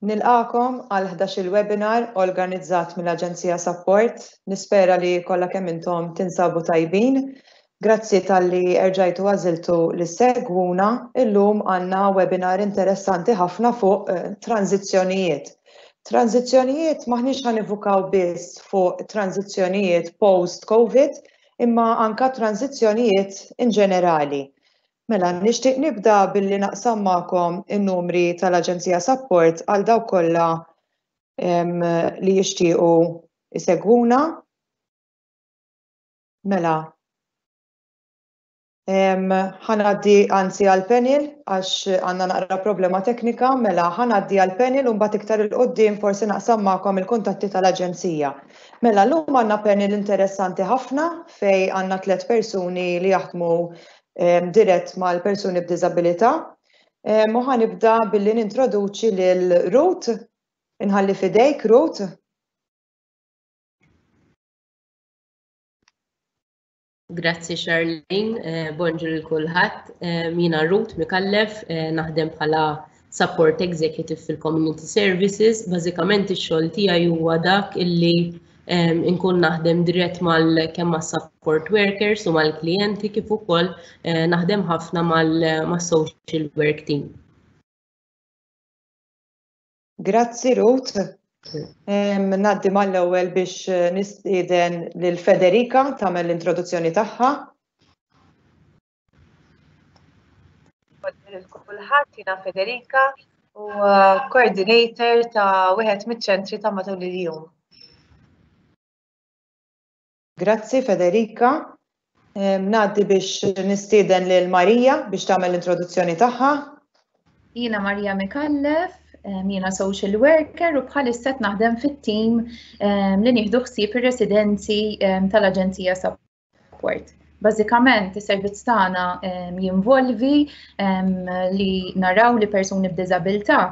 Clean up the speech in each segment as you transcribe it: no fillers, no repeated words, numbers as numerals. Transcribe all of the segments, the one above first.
Nilqagħkom għal 11-il webinar organizzat mill-Aġenzija Sapport. Nispera li kollha kemm intom tinsabu tajbin. Grazzi talli erġajtu għażiltu li ssegwuna. Illum għandna webinar interessanti ħafna fuq eh, tranzizzjonijiet. Tranzizzjonijiet maħniex ħa nifukaw biss fuq tranzizzjonijiet post-COVID, imma anka tranzizzjonijiet in ġenerali. Mela, nixtieq nibda billi naqsam magħkom in-numri tal-Aġenzija Sapport għal dawk kollha li jixtiequ isegwuna. Mela, ħa ngħaddi anzi għall-panel għax għandna naqra problema teknika, mela ħa ngħaddi għall-panel u mbagħad iktar 'il quddiem forsi naqsam magħkom il-kuntatti tal-Aġenzija. Mela, llum għandna panel interessanti ħafna fej għandna tlett persuni li jaħdmu dirett mal-persuni b'diżabilità. U ħa nibda billi nintroduċi lil Ruth. Inħalli fidejk, Ruth. Grazzi Charlene, eh, bonġur lil kulħadd. Eh, jiena Ruth Mikallef, eh, naħdem bħala Support Executive fil-Community Services. Bażikament ix-xogħol tiegħi huwa dak illi inkun naħdem dirett mal kemm mas-support workers u mal-klijenti kif ukoll naħdem ħafna mal-social work team. Grazzi Ruth. Ngħaddi mal-ewwel biex eh, nistieden lil Federica tagħmel l-introduzzjoni tagħha. Kulħadd jiena Federica u eh, coordinator ta' wieħed miċ-ċentri ta' matul il-jum. Grazzi Federica. Ngħaddi biex nistieden lil Marija biex tagħmel l-introduzzjoni tagħha. Jiena Marija Mikallef, jiena social worker u bħalissa qed naħdem fit-tim li nieħdu ħsieb ir-residenzi tal-Aġenzija Support. Bażikament is-servizz tagħna jinvolvi li naraw li persuni b'diżabilità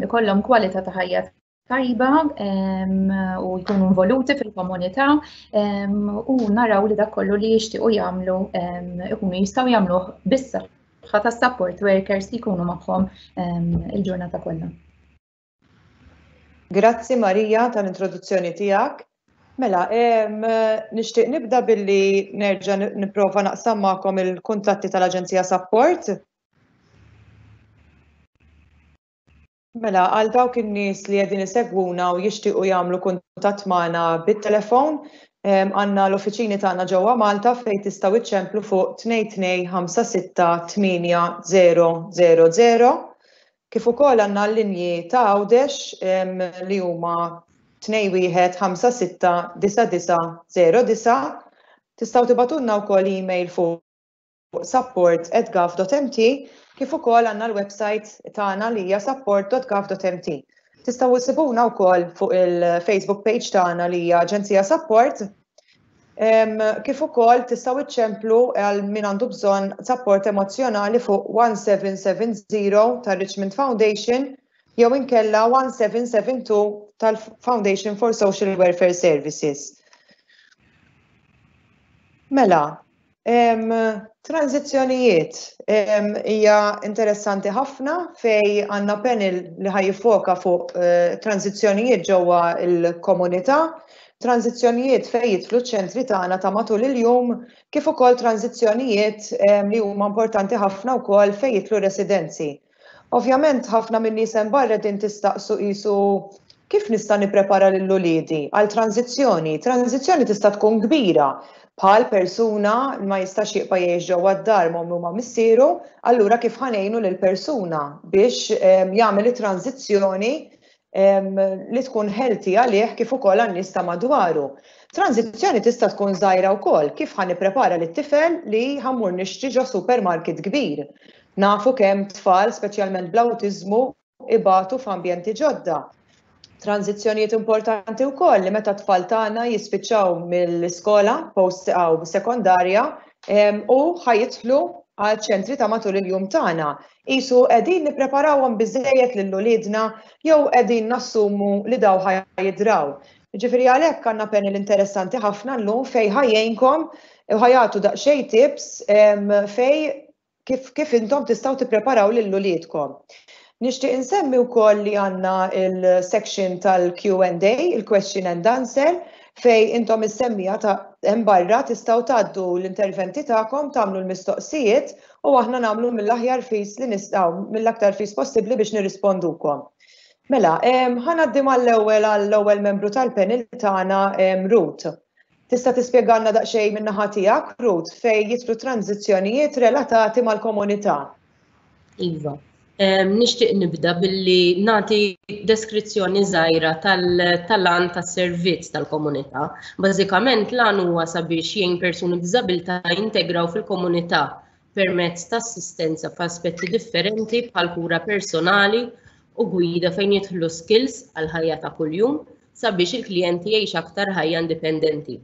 ikollhom kwalità ta' ħajja tajba u jkunu involuti fil-komunità u naraw li dak kollu li jixtiequ jagħmlu ikunu jistgħu jagħmluh bis-saħħa ta' support workers li jkunu magħhom il-ġurnata kollha. Grazzi Marija tal-introduzzjoni tiegħek. Mela, nixtieq nibda billi nerġa' nipprova naqsam magħkom il-kuntatti tal-Aġenzija Sapport. Mela, għal dawk in-nies li qegħdin isegwuna u jixtiequ jagħmlu kuntatt magħna bit-telefon, għandna l-uffiċini tagħna ġewwa Malta fejn tistgħu iċċemplu fuq 2256 8000. Kif ukoll għandna l-linji ta' Għawdex li huma 21 56 9909. Tistgħu tibagħtulna wkoll email fuq support@gov.mt kif ukoll għandna l-website tagħna li hija support.gov.mt. Tistgħu issibuna wkoll fuq il-Facebook page tagħna li hija Aġenzija Support. Kif ukoll tistgħu iċċemplu għal min għandu bżonn support emozzjonali fuq 1770 tar-Richmond Foundation jew inkella 1772 tal-Foundation for Social Welfare Services. Mela, Tranżizzjonijiet hija interessanti ħafna fej għandna panel li ħa jiffoka fuq eh, tranżizzjonijiet ġewwa l-komunità, tranżizzjonijiet fej jidħlu ċ-ċentri tagħna ta' matul il-jum, kif ukoll tranżizzjonijiet li huma importanti ħafna wkoll fej jidħlu residenzi. Ovvjament ħafna min-nies hemm barra qegħdin tistaqsu qisu kif nista' nipprepara lil uliedi għal tranżizzjoni. Tranżizzjoni tista' tkun kbira bħal persuna ma jistax jibqa' jgħix ġewwa d-dar ma' ommu ma' missieru, allura kif ħa ngħinu lil persuna biex ehm, jagħmel it-tranżizzjoni li tkun healthy għalih kif ukoll għan-nies ta' madwaru. Tranżizzjoni tista' tkun żgħira wkoll, kif ħa nipprepara lit-tifel li ħa mmur nixtri ġo supermarket kbir. Nafu kemm tfal, speċjalment bl-awtiżmu, ibatu f'ambjenti ġodda. Tranżizzjonijiet importanti wkoll li meta t-tfal tagħna jispiċċaw mill-iskola post aw sekondarja u ħa jidħlu għal ċentri ta' matul il-jum tagħna. Qisu qegħdin nippreparawhom biżżejjed lil uliedna jew qegħdin nassumu li daw ħa jidraw. Jiġifieri għalhekk għandna panel interessanti ħafna llum fejn ħa jgħinkom u ħa jagħtu daqsxejn tips fejn kif kif intom tistgħu tippreparaw lil uliedkom. Nixtieq insemmi wkoll li għandna il-section tal-Q&A, il-question and answer, fejn intom is-semmiegħa ta' hemm barra tistgħu tgħaddu l-interventi tagħkom, tagħmlu l-mistoqsijiet u aħna nagħmlu mill-aħjar fis li nistgħu, mill-aktar fis possibbli biex nirrispondukom. Mela, ħa ngħaddi mal-ewwel għall-ewwel membru tal-panel tagħna, Ruth. Tista' tispjegalna daqsxejn min-naħa tiegħek, Ruth, fejn jidħlu tranzizzjonijiet relatati mal-komunità? Iva. Nixtieq nibda billi nagħti deskrizzjoni żgħira tal-għan tas-servizz tal-komunità. Bażikament l-għan huwa sabiex jgħin persuni b'diżabilità jintegraw fil-komunità permezz ta' assistenza f'aspetti differenti bħal kura personali u gwida fejn jidħlu skills għal ħajja ta' kuljum sabiex il-klijenti jgħix aktar ħajja indipendenti.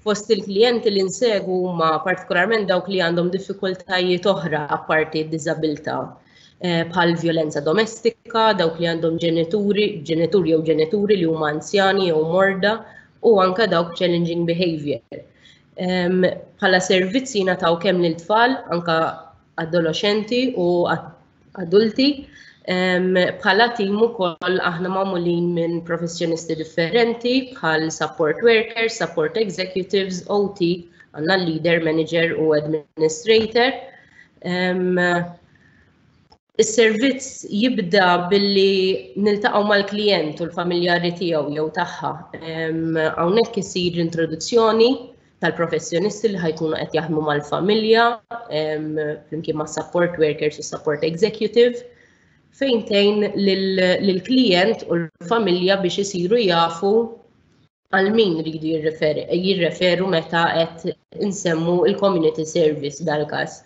Fost il-klijenti li nsegwu huma partikolarment dawk li għandhom diffikultajiet oħra apparti d-diżabilità, bħal vjolenza domestika, dawk li għandhom ġenituri, ġenituri jew ġenituri li huma anzjani jew morda, u anka dawk challenging behavior. Bħala servizzi nataw kemm lil tfal, anka adolescenti u adulti. Bħala tim ukoll aħna magħmulin minn professjonisti differenti bħal support workers, support executives, OT, għandna leader, manager u administrator. Is-servizz jibda billi niltaqgħu mal-klijent u l-familjari tiegħu jew tagħha. Hawnhekk isir introduzzjoni tal-professjonisti li ħa jkunu qed jaħdmu mal-familja, flimkien ma' support workers u support executive, fejn tgħin lill-klijent u l-familja biex isiru jafu għal min ridu jirreferu meta qed insemmu il-community service dal-każ.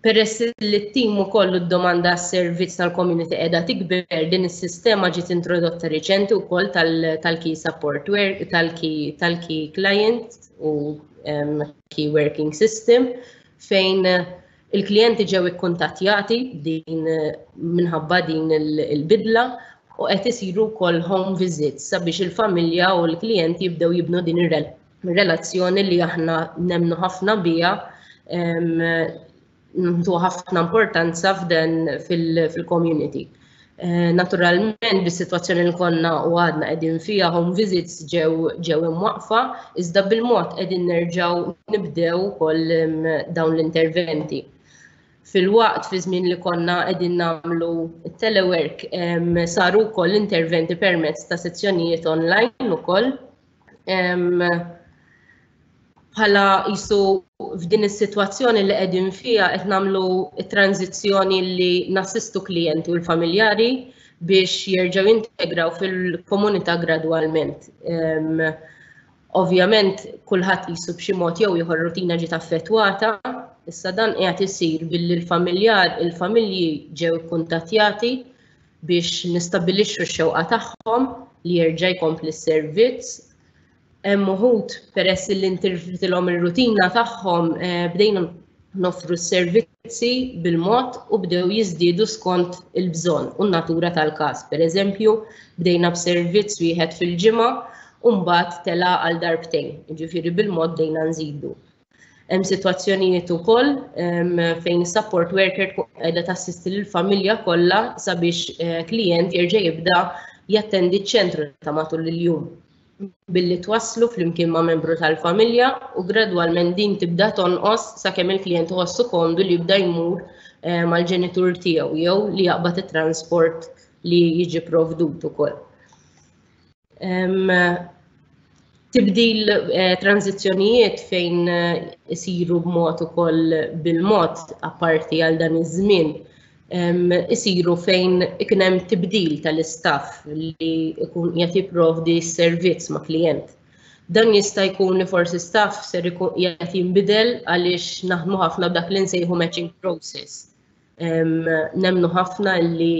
Peress li t-tim ukoll d-domanda għas-servizz tal-community qiegħda tikber, din is-sistema ġiet introdotta riċenti wkoll tal-key support work, tal-key client u key working system, fejn il-klijenti ġew ikkuntattjati din minħabba din il-bidla u qed isiru wkoll home visits sabiex il-familja u l-klijenti jibdew jibnu din ir-relazzjoni li aħna nemnu ħafna biha, ntu ħafna importanza f'dan fil-community. Naturalment, bis-sitwazzjoni li konna u għadna qegħdin fiha, home visits ġew imwaqfa, iżda bil-mod qegħdin nerġgħu nibdew ukoll dawn l-interventi. Fil-waqt fi żmien li konna qegħdin nagħmlu telework, saru wkoll interventi permezz ta' sezzjonijiet online ukoll. Bħala jisu f'din is-sitwazzjoni li qegħdin fiha qed nagħmlu tranzizzjoni li nassistu klijenti u l-familjari biex jerġgħu jintegraw fil-komunità gradwalment. Ovvjament kulħadd jisu b'xi mod jew ieħor rutina ġiet affettwata, issa dan qiegħed isir billi l-familjar, il-familji ġew ikkuntattjati biex nistabbilixxu x-xewqa tagħhom li jerġa' jkompli s-servizz. Hemm uħud peress li intirfitilhom ir-rutina tagħhom, bdejna noffru s-servizzi bil-mod u bdew jiżdiedu skont il-bżonn u n-natura tal-każ. Per eżempju, bdejna b'servizz wieħed fil-ġimgħa u mbagħad tela' għal darbtejn, jiġifieri bil-mod bdejna nżidu. Hemm sitwazzjonijiet ukoll fejn is-support worker tkun qiegħda tassisti lill-familja kollha sabiex klijent jerġa' jibda jattendi ċ-ċentru ta' matul il-jum billi twasslu flimkien ma' membru tal-familja u gradwalment din tibda tonqos sakemm il-klijent iħossu komdu li jibda jmur mal-ġenitur tiegħu jew li jaqbad it-transport li jiġi provdut ukoll. Tibdil tranzizzjonijiet fejn isiru b'mod ukoll bil-mod apparti għal dan iż-żmien, isiru fejn ikun hemm tibdil tal-istaff li jkun qiegħed jipprovdi s-servizz ma' klijent. Dan jista' jkun li forsi staff ser ikun qiegħed jinbidel għaliex naħdmu ħafna b'dak li nsejħu matching process. Nemnu ħafna li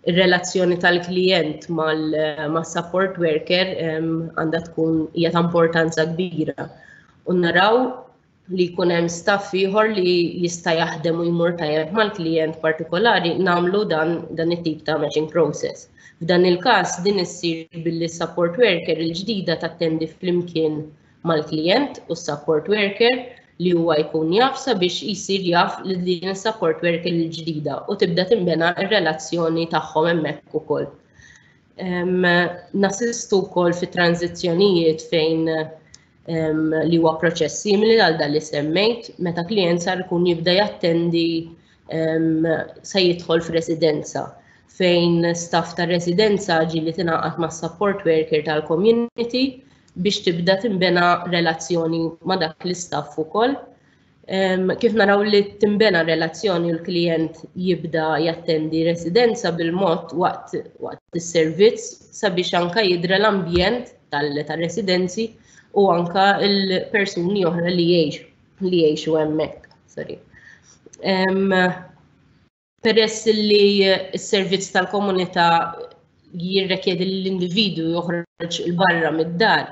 ir-relazzjoni tal-klijent mas-support worker għandha tkun hija ta' importanza kbira. U naraw li jkun hemm staff ieħor li jista' jaħdem u jmur tajjeb mal-klijent partikolari, nagħmlu dan it-tip ta' matching process. F'dan il-każ din issir billi support worker il-ġdida tattendi flimkien mal-klijent u support worker. li huwa jkun jaf sabiex jsir jaf li din is-support worker il-ġdida u tibda tinbena r-relazzjoni tagħhom hemmhekk ukoll. Nassistu wkoll fi tranzizzjonijiet fejn li huwa proċess simili għal dan li semmejt, meta klijent sar ikun jibda jattendi se jidħol f'residenza fejn staff ta' residenza ġieli tingħaqad ma' support worker tal-community biex tibda tinbena relazzjoni ma' dak l-istaff ukoll. Kif naraw li timbena relazzjoni u l-klijent jibda jattendi residenza bil-mod waqt waqt is-servizz sabiex anka jidra l-ambjent tal-residenzi u anka l-persuni oħra li jgħixu li jgħixu hemmhekk. Sorry. Peress li s-servizz tal-komunità jirrekjedi li l-individwu joħroġ il barra mid-dar,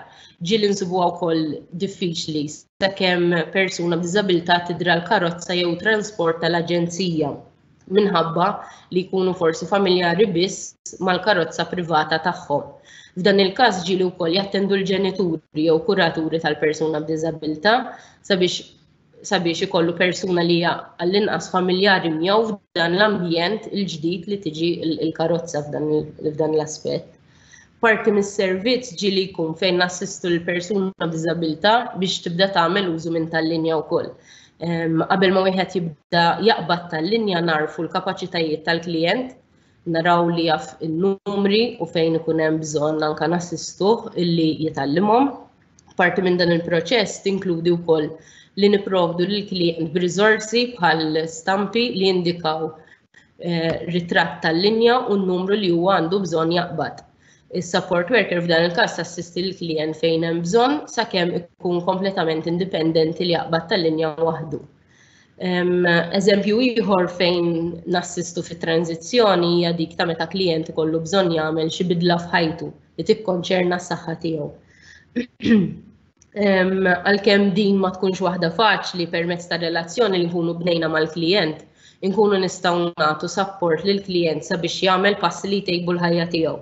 ġieli nsibuha wkoll diffiċli sakemm persuna b'diżabilità tidra l-karozza jew transport tal-aġenzija minħabba li jkunu forsi familjari biss mal-karozza privata tagħhom. F'dan il-każ ġieli wkoll jattendu l-ġenituri jew kuraturi tal-persuna b'diżabilità sabiex sabiex ikollu persuna li hija għall-inqas familjari miegħu f'dan l-ambjent il-ġdid li tiġi l-karozza f'dan l-aspett. Parti mis-servizz ġieli jkun fejn nassistu l-persuna b'diżabilità biex tibda tagħmel użu minn tal-linja wkoll. Qabel ma wieħed jibda jaqbad tal-linja narfu l-kapaċitajiet tal-klijent, naraw li jaf in-numri u fejn ikun hemm bżonn anke nassistuh illi jitgħallimhom. Parti minn dan il-proċess tinkludi wkoll li nipprovdu lill-klijent b'riżorsi bħal stampi li jindikaw eh, ritratt tal-linja u n-numru li huwa għandu bżonn jaqbad. Is-support worker f'dan il-każ tassisti l-klijent fejn hemm bżonn sakemm ikun kompletament indipendenti li jaqbad tal-linja waħdu. Eżempju ieħor fejn nassistu fit-tranzizzjoni hija dik ta' meta klijent ikollu bżonn jagħmel xi bidla f'ħajtu li tikkonċerna s-saħħa tiegħu. Għalkemm din ma tkunx waħda faċli permezz ta' relazzjoni li nkunu bnejna mal-klijent, inkunu nistgħu nagħtu support lill-klijent sabiex jagħmel passi li jtejbu l-ħajja tiegħu.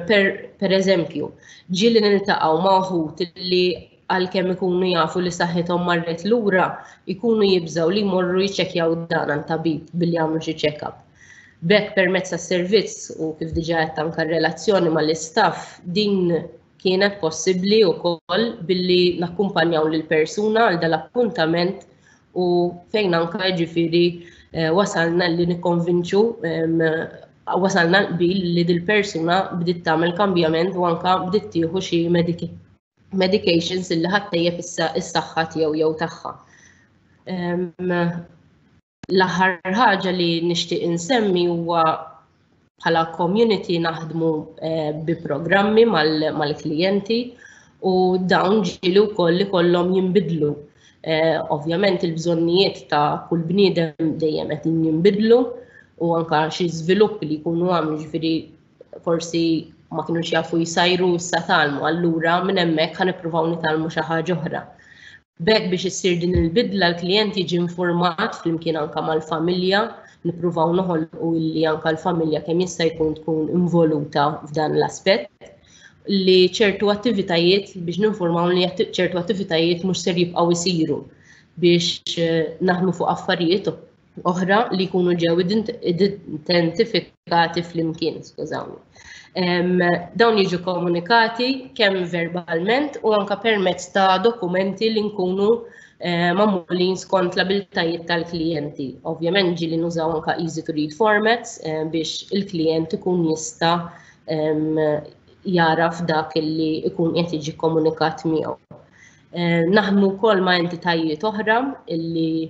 Per, per eżempju, ġieli niltaqgħu ma' uħud li għalkemm ikunu jafu li saħħithom marret lura, ikunu jibżgħu li jmorru jiċċekkjaw dan għand tabib billi jagħmlu xi check-up. B'hekk permezz tas-servizz u kif diġà għedt anke r-relazzjoni mal-istaff din kienet possibbli wkoll billi nakkumpanjaw lill-persuna għal dal-appuntament u fejn anke jiġifieri eh, wasalna li nikkonvinċu wasalna l-qbil li dil-persuna bdiet tagħmel kambjament u anke bdiet tieħu xi medications illi ħattejjeb is-saħħa tiegħu jew tagħha. L-aħħar ħaġa li nixtieq insemmi huwa bħala community naħdmu eh, bi programmi mal-klijenti u dawn ġieli wkoll li kollhom jinbidlu. Eh, ovvjament il-bżonnijiet ta' kull bniedem dejjem qed jinbidlu u anka xi żviluppi li jkunu għamlu ġifieri forsi ma kinux jafu jsajru issa tgħallmu, allura minn hemmhekk ħa nippruvaw nitgħallmu xi ħaġa oħra. B'hekk biex issir din il-bidla l-klijent jiġi informat flimkien anka mal-familja, nippruvaw noħolqu illi anka l-familja kemm jista' jkun tkun involuta f'dan l-aspett li ċertu attivitajiet biex ninformaw li ċertu attivitajiet mhux ser jibqgħu jsiru biex eh, naħdmu fuq affarijiet oħra li jkunu ġew identifikati flimkien, skużawni. Dawn jiġu komunikati kemm verbalment u anka permezz ta' dokumenti li nkunu eh, magħmulin skont l-abiltajiet tal-klijenti. Ovvjament ġieli nużaw anka easy to read formats eh, biex il-klijent ikun jista' jaraf dak li ikun qed jiġi komunikat miegħu. Eh, naħdmu wkoll ma' entitajiet oħra illi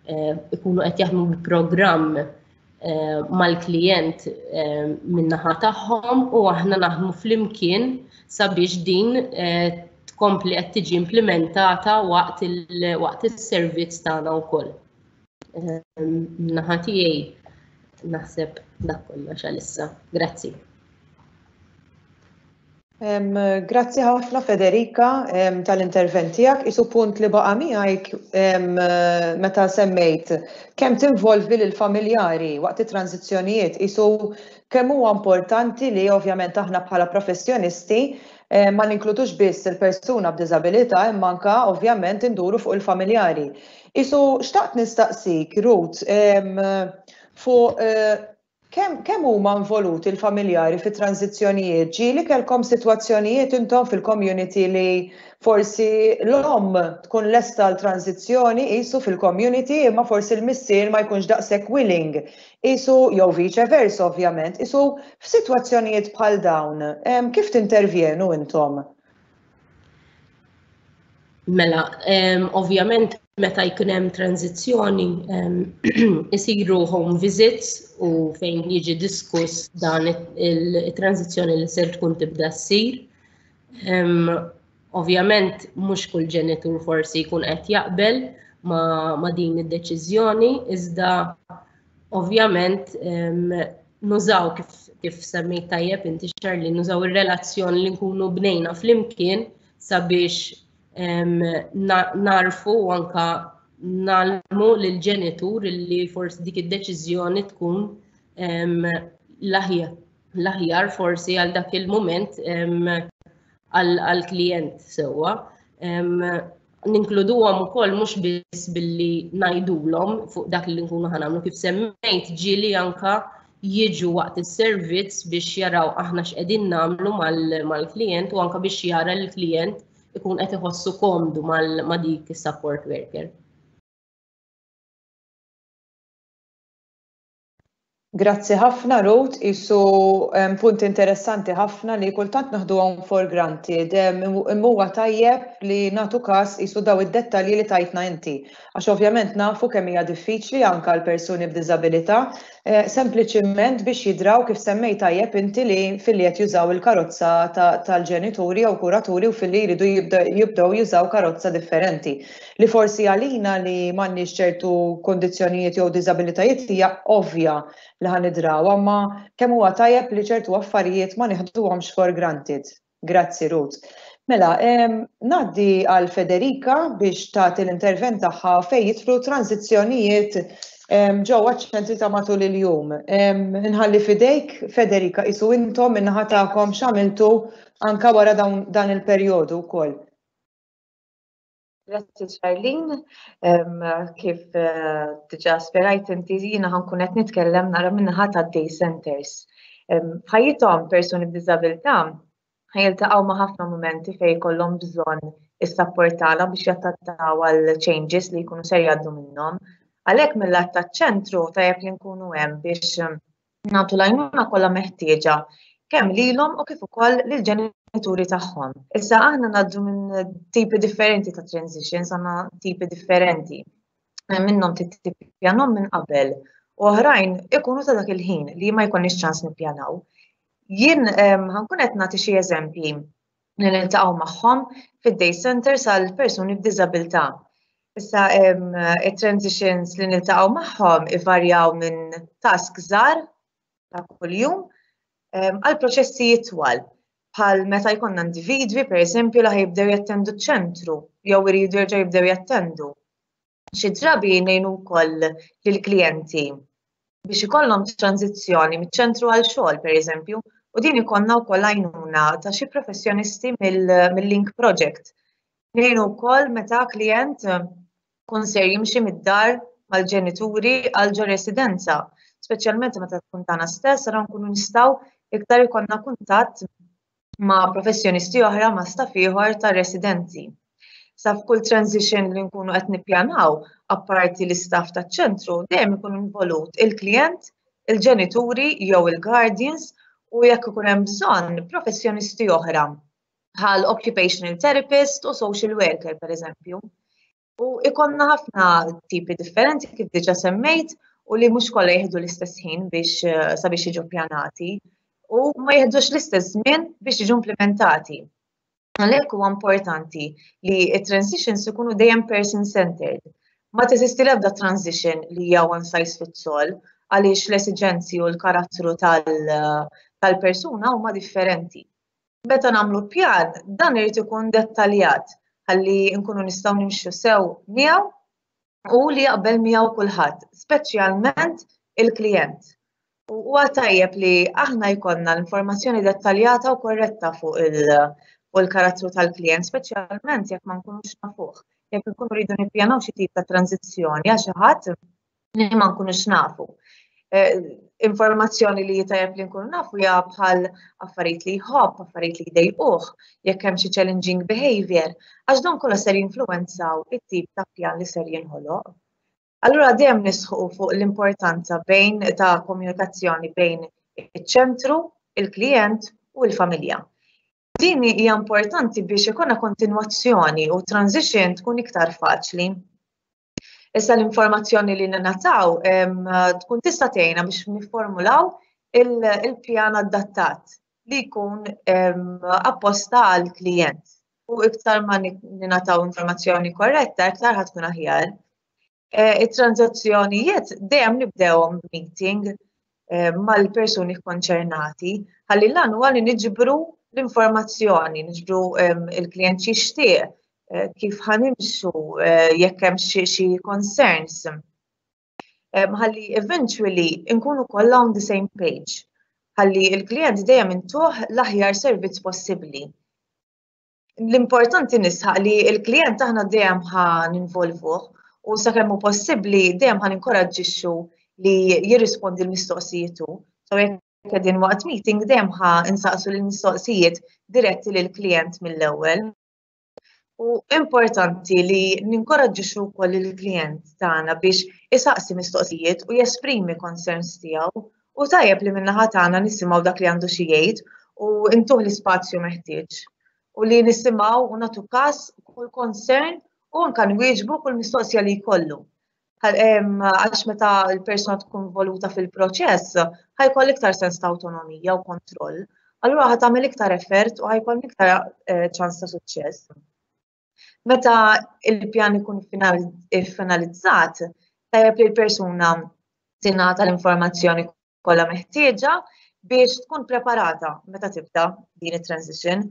eh, ikunu qed jaħdmu bi programm eh, mal-klijent eh, min-naħa tagħhom u aħna naħdmu flimkien sabiex din tkompli qed tiġi implementata waqt is-servizz tagħna wkoll. Naħa tiegħi naħseb dak kollox għalissa. Grazzi. Grazzi ħafna Federica tal-intervent tiegħek. Isu punt li baqa' miegħek meta semmejt kemm tinvolvi lil familjari waqt it-tranzizzjonijiet isu kemm huwa importanti li ovvjament aħna bħala professjonisti. Ma ninkludux biss il-persuna b'diżabilità imma anka ovvjament induru fuq il-familjari. Isu xtaqt nistaqsik, Ruth, fuq kemm huma involuti l-familjari fi tranżizzjonijiet? Ġieli kellkom sitwazzjonijiet intom fil-community li forsi l-omm tkun lesta għal tranżizzjoni qisu fil-community imma forsi l-missier ma jkunx daqshekk willing qisu jew vice versa ovvjament, qisu f'sitwazzjonijiet bħal dawn kif tintervjenu intom? Mela, ovvjament meta jkun hemm tranzizzjoni isiru home visits u fejn jiġi diskuss dan it-tranzizzjoni li ser tkun tibda ssir. Ovvjament mhux kull ġenitur forsi jkun qed jaqbel ma, ma din id-deċiżjoni, iżda ovvjament nużaw kif, kif semmejt tajjeb inti Charlie, nużaw ir-relazzjoni li nkunu bnejna flimkien sabiex narfu u anka nalmu lil ġenitur li forsi dik id-deċiżjoni tkun l-aħjar l-aħjar forsi għal dak il-mument għall-klijent sewwa. Ninkluduhom ukoll mhux biss billi ngħidulhom fuq dak li nkunu ħanamlu kif semmejt ġieli anka jiġu waqt is-servizz biex jaraw aħna x'qegħdin nagħmlu mal-klijent u anka biex jara l-klijent ikun qed iħossu komdu ma' dik is-support worker. Grazzi ħafna Ruth, qisu punt interessanti ħafna li kultant naħduhom for granted, imma huwa tajjeb li nagħtu każ qisu daw id-dettalji li tajtna inti. Għax ovvjament nafu kemm hija diffiċli anke għal persuni b'diżabilità, sempliċiment biex jidraw kif semmejt tajjeb inti li filli qed jużaw il-karozza tal-ġenituri jew kuraturi u filli jridu jibdew jużaw karozza differenti. Li forsi għalina li m'għandniex ċertu kundizzjonijiet jew diżabilitajiet hija ovvja li ħa nidrawha, imma kemm huwa tajjeb li ċertu affarijiet ma nieħduhomx for granted. Grazzi Ruth. Mela, ngħaddi għal Federica biex tagħti l-intervent tagħha fejn jidħlu transizzjonijiet ġewwa ċ-ċentri ta' matul il-jum. Inħalli f'idejk Federica qisu intom min-naħa tagħkom x'għamiltu anke wara dan il-perjodu wkoll. Grazzi Charlene, kif eh, diġa spjegajt inti jiena ħankun qed nitkellem nara minnaħa ta' day centers. F'ħajjithom persuni b'diżabilità ħajiltaqgħu ma' ħafna mumenti fejn jkollhom bżonn is-sapport tagħna biex jattattaw għal changes li jkunu ser jgħaddu minnhom. Għalhekk mill-att taċ-ċentru tajjeb li nkunu hemm biex nagħtu l-għajnuna kollha meħtieġa kemm lilhom u kif ukoll lill-ġenituri tagħhom. Issa aħna ngħaddu minn tipi differenti ta' transitions, għandna tipi differenti. Minnhom tippjanhom minn qabel u oħrajn ikunu ta' dak il-ħin li ma jkollniex ċans nippjanaw. Jien ehm, ħankun qed nagħti xi eżempji li niltaqgħu magħhom fid-day centers għal persuni b'diżabilità. Issa it-transitions li niltaqgħu magħhom ivarjaw minn task żgħar ta' kuljum għal proċessi jitwal bħal meta jkollna individwi pereżempju li ħajibdew jattendu ċ-ċentru jew iridu jerġgħu jibdew jattendu. Xi drabi ngħinu wkoll lill-klijenti biex ikollhom tranżizzjoni miċ-ċentru għal xogħol pereżempju, u din ikollna wkoll għajnuna ta' xi professjonisti mill-Link Project. Ngħinu wkoll meta klijent kun ser jimxi mid-dar mal-ġenituri għal ġo residenza, speċjalment meta tkun tagħna stess, ara nkunu nistgħu iktar ikollna kuntatt ma' professjonisti oħra ma' staff ieħor ta' residenzi. Sa f'kull transition li nkunu qed nippjanaw, apparti l-istaff taċ-ċentru, dejjem ikun involut il-klijent, il-ġenituri jew il-guardians u jekk ikun hemm bżonn professjonisti oħra bħal occupational therapist u social worker pereżempju. U ikonna ħafna tipi differenti kif diġa semmejt u li mhux kollha jieħdu l-istess ħin biex eh, sabiex jiġu pjanati u ma jieħdux l-istess żmien biex jiġu implementati. Għalhekk huwa importanti li t-transitions ikunu dejjem person-centered. Ma teżisti l-ebda transition li hija one size fits all għaliex l-esiġenzi u l-karattru tal-persuna huma differenti. Meta nagħmlu pjan, dan irid ikun dettaljat ħalli nkunu nistgħu nimxu sew miegħu u li jaqbel miegħu kulħadd, speċjalment il-klijent. U huwa tajjeb li aħna jkollna l-informazzjoni dettaljata u korretta fuq il fuq il-karattru tal-klijent, speċjalment jekk ma nkunux nafuh. Jekk nkunu rridu nippjanaw xi tip ta' tranzizzjoni għal xi ħadd li ma nkunux nafu. Eh, informazzjoni li tajjeb li nkunu nafu hija bħal affarijiet li jħobb, affarijiet li jdejquh, jekk hemm xi challenging behavior, għax dawn kollha ser jinfluwenzaw it-tip ta' pjan li ser jinħoloq. Allura dejjem nisħu fuq l-importanza bejn ta' komunikazzjoni bejn iċ-ċentru, il-klijent u l-familja. Din hija importanti biex ikonna kontinwazzjoni u transition tkun iktar faċli. Issa l-informazzjoni li nataw tkun tista' tgħinna biex nifformulaw il-pjan adattat li jkun apposta għal klijent. U iktar ma ningħataw informazzjoni korretta, iktar ħad tkun aħjar. E, it-transazzjonijiet dejjem nibdewhom meeting e, mal-persuni konċernati, ħalli l huwa li niġbru l-informazzjoni, niġbru il-klient xixtieq, Eh, kif ħanimxu eh, jekk hemm xi concerns. Eh, ħalli eventually nkunu kollha on the same page. Ħalli il-klient dejjem intuh l-aħjar servizz possibbli. L-importanti nisħaq li il-klient aħna dejjem ħa ninvolvuh u sakemm hu possibbli dejjem ħa ninkoraġġixxu li jirrispondi l-mistoqsijiet hu. So jekk qegħdin waqt meeting dejjem ħa insaqsu l-mistoqsijiet diretti lill-klient mill-ewwel. U importanti li ninkoraġġixxu wkoll il-klijent tagħna biex isaqsi mistoqsijiet u jesprimi concerns tiegħu u tajjeb li min-naħa tagħna nisimgħu dak li għandu xi jgħid u ntuh l-ispazju meħtieġ. U li nisimgħu u nagħtu każ kull concern u anke nwieġbu kull mistoqsija li jkollu. Għax meta l-persuna tkun involuta fil-proċess, ħajkoll iktar sens ta' awtonomija u kontroll. Allura ħa tagħmel iktar effort u ħajkoll iktar eh, ċans ta' suċċess. Meta il-pjan ikun finalizzat, tajjeb li l-persuna tingħata l-informazzjoni kollha meħtieġa biex tkun preparata meta tibda din it-transition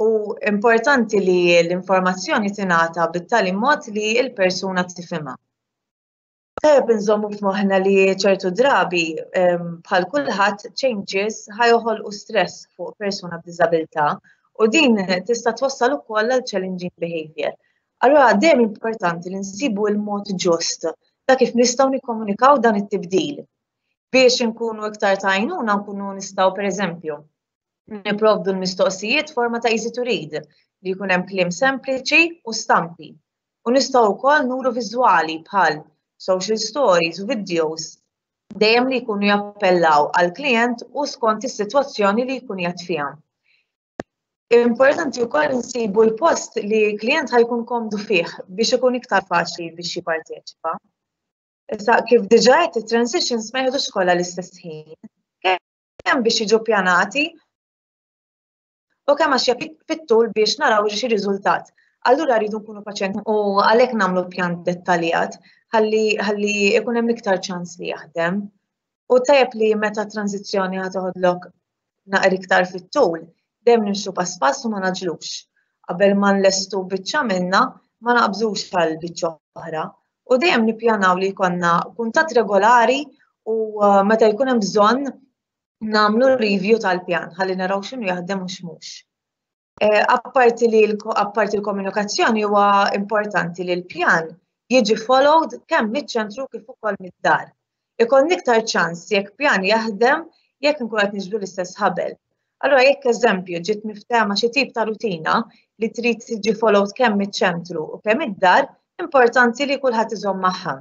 u importanti li l-informazzjoni tingħata bit-tali mod li l-persuna tifhimha. Tajjeb inżommu f'moħħna li ċertu drabi bħal kulħadd changes ħajoħolqu stress fuq persuna b'diżabilità u din tista' twassal ukoll għal challenging behavior. Allura dejjem importanti li nsibu l-mod ġust ta' kif nistgħu nikkomunikaw dan it-tibdil. Biex inkunu iktar ta' għajnuna nkunu nistgħu pereżempju nipprovdu l-mistoqsijiet forma ta' easy to read li jkun hemm kliem sempliċi u stampi. U nistgħu wkoll nuru viżwali bħal social stories u videos dejjem li jkunu jappellaw għal klient u skont is-sitwazzjoni li jkun qiegħed fiha. Importanti wkoll insibu l-post li klient ħajkun komdu fih biex ikun iktar faċli biex jipparteċipa. Issa kif diġà qed it-transitions ma jieħdux kollha l-istess ħin. Kemm biex jiġu pjanati u kemm għax fit-tul biex naraw xi riżultat. Allura rridu nkunu paċenti u għalhekk nagħmlu pjan dettaljat ħalli ħalli ikun hemm iktar ċans li jaħdem. U tajjeb li meta tranzizzjoni ħa toħodlok naqra iktar fit-tul, dejjem nimxu pass pass u ma naġlux. Qabel ma nlestu biċċa minna, ma naqbżux għal biċċa oħra. U dejjem nippjanaw li jkollna kuntatt regolari u uh, meta jkun hemm bżonn nagħmlu review tal-pjan ħalli naraw x'inhu jaħdem u x'mhux. Eh, apparti li apparti l-komunikazzjoni huwa importanti li l-pjan jiġi followed kemm miċ-ċentru kif ukoll mid-dar. Ikollna iktar ċans jekk pjan jaħdem jekk nkun qed niġbdu l-istess ħabel. Allura jekk eżempju ġiet miftehma xi tip ta' rutina li trid tiġi followed kemm miċ-ċentru u kemm id-dar, importanti li kulħadd iżomm magħha.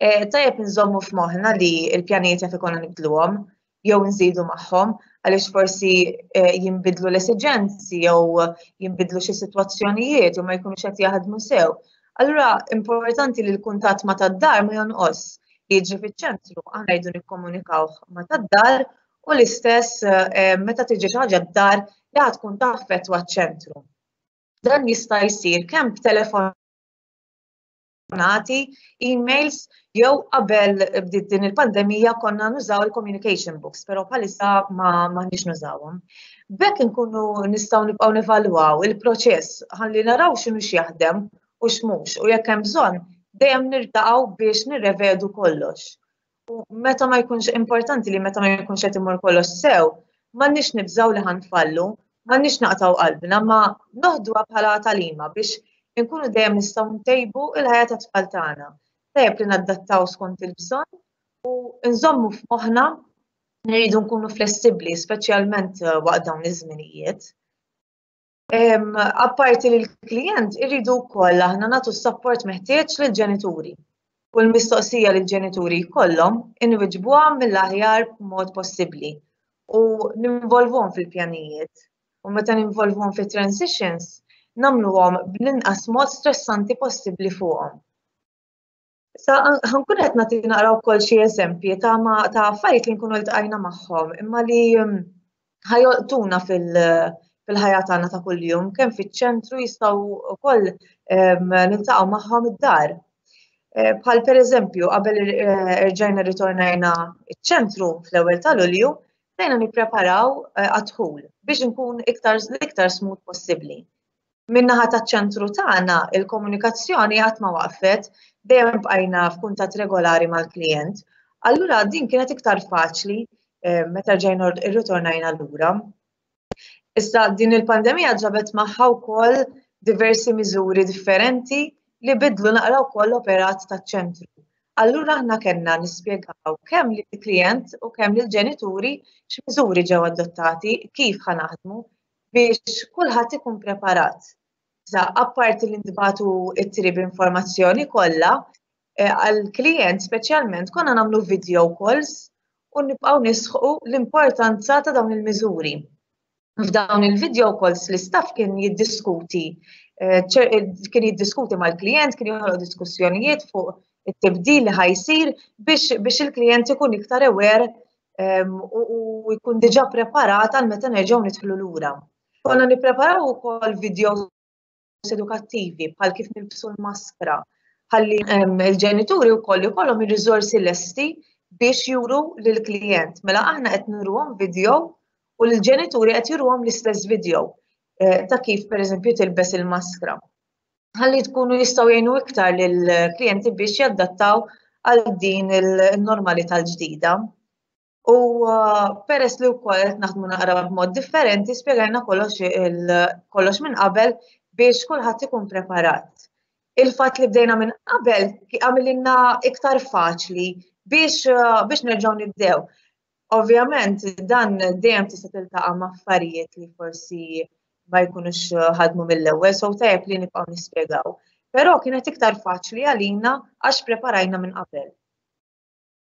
Eh, tajjeb nżommu f'moħħna li l-pjanijiet jaf ikollna nibdluhom jew nżidu magħhom għaliex forsi eh, jinbidlu l-esiġenzi jew jinbidlu xi sitwazzjonijiet jew ma jkunux qed jaħdmu sew. Allura importanti li l-kuntatt ma tad-dar ma jonqos li jiġri fiċ-ċentru aħna jridu nikkomunikaw ma tad-dar u l-istess eh, meta tiġi xi ħaġa d-dar li ħad tkun taffettwa ċ-ċentru. Dan jista' jsir kemm b'telefon telefonati, emails, jew qabel bdiet din il-pandemija konna nużaw il-communication books, però bħalissa ma m'aħniex nużawhom. B'hekk inkunu nistgħu nibqgħu nevalwaw il-proċess ħalli naraw x'inhu x'jaħdem u x'mhux u jekk hemm bżonn dejjem niltaqgħu biex nirrevedu kollox. U meta ma jkunx importanti li meta ma jkunx qed imur kollox sew, m'għandniex nibżgħu li ħanfallu, M'għandniex naqtgħu qalbna ma noħduha bħala tagħlima biex inkunu dejjem nistgħu ntejbu l-ħajja tat-tfal tagħna. Tajjeb li nadattaw skont il-bżonn u nżommu f'moħħna nridu nkunu flessibbli, speċjalment eh, waqt dawn iż-żminijiet. Apparti li l-klijent irridu wkoll aħna nagħtu s-sapport meħtieġ lill-ġenituri. U l-mistoqsija li l-ġenituri jkollhom inwiġbuha mill-aħjar mod possibbli u ninvolvuhom fil-pjanijiet. U meta ninvolvuhom fit-transitions, nagħmluhom bl-inqas mod stressanti possibbli fuqhom. Sa ħankun qed nagħti naqra wkoll xi eżempji ta' ta' affarijiet li nkunu ltqajna magħhom imma li mm, ħajolqtuna fil-ħajja tagħna ta' kuljum kemm fiċ-ċentru jistgħu wkoll niltaqgħu magħhom id-dar. Eh, bħal pereżempju qabel eh, erġajna ritornajna iċ-ċentru fl-ewwel ta' Lulju, bdejna nippreparaw eh, għad-dħul biex nkun iktar l-iktar smooth possibbli. Min-naħa taċ-ċentru tagħna, il-komunikazzjoni qatt ma waqfet, dejjem bqajna f'kuntatt regolari mal-klijent. Allura din kienet iktar faċli eh, meta ġejna rritornajna lura. Issa din il-pandemija ġabet magħha wkoll diversi miżuri differenti li bidlu naqra wkoll l-operat taċ-ċentru. Allura aħna kellna nispjegaw kemm lill-klijent u kemm lill-ġenituri x'miżuri ġew adottati, kif ħa naħdmu, biex kulħadd ikun preparat. Sa apparti li ntbagħtu ittri b'informazzjoni kollha, eh, għall-klijent speċjalment konna nagħmlu video calls u nibqgħu nisħu l-importanza ta' dawn il-miżuri. F'dawn il-video calls l-istaff kien jiddiskuti eh, eh, kien jiddiskuti mal-klijent, kien joħloq diskussjonijiet fuq it-tibdil li ħajsir biex, biex il-klijent ikun iktar aware u jkun diġà preparat għal meta nerġgħu nidħlu lura. Konna nippreparaw ukoll videos edukattivi bħal kif nilbsu l-maskra, ħalli il-ġenituri wkoll ikollhom ir-riżorsi lesti biex juru lill-klijent. Mela aħna qed nuruhom video u l-ġenituri qed juruhom l-istess video eh, ta' kif pereżempju tilbes il-maskra. Ħalli tkunu jistgħu jgħinu iktar lill-klijenti biex jadattaw għal din il-normalità l-ġdida. U uh, peress li wkoll qed naħdmu naqra b'mod differenti, spjegajna kollox kollox minn qabel biex kulħadd ikun preparat. Il-fatt li bdejna minn qabel għamililna iktar faċli biex uh, biex nerġgħu nibdew. Ovvjament dan dejjem tista' tiltaqa' ma' affarijiet li forsi ma jkunux ħadmu mill-ewwel, so tajjeb li nibqgħu nispjegaw. Però kienet iktar faċli għalina għax preparajna minn qabel.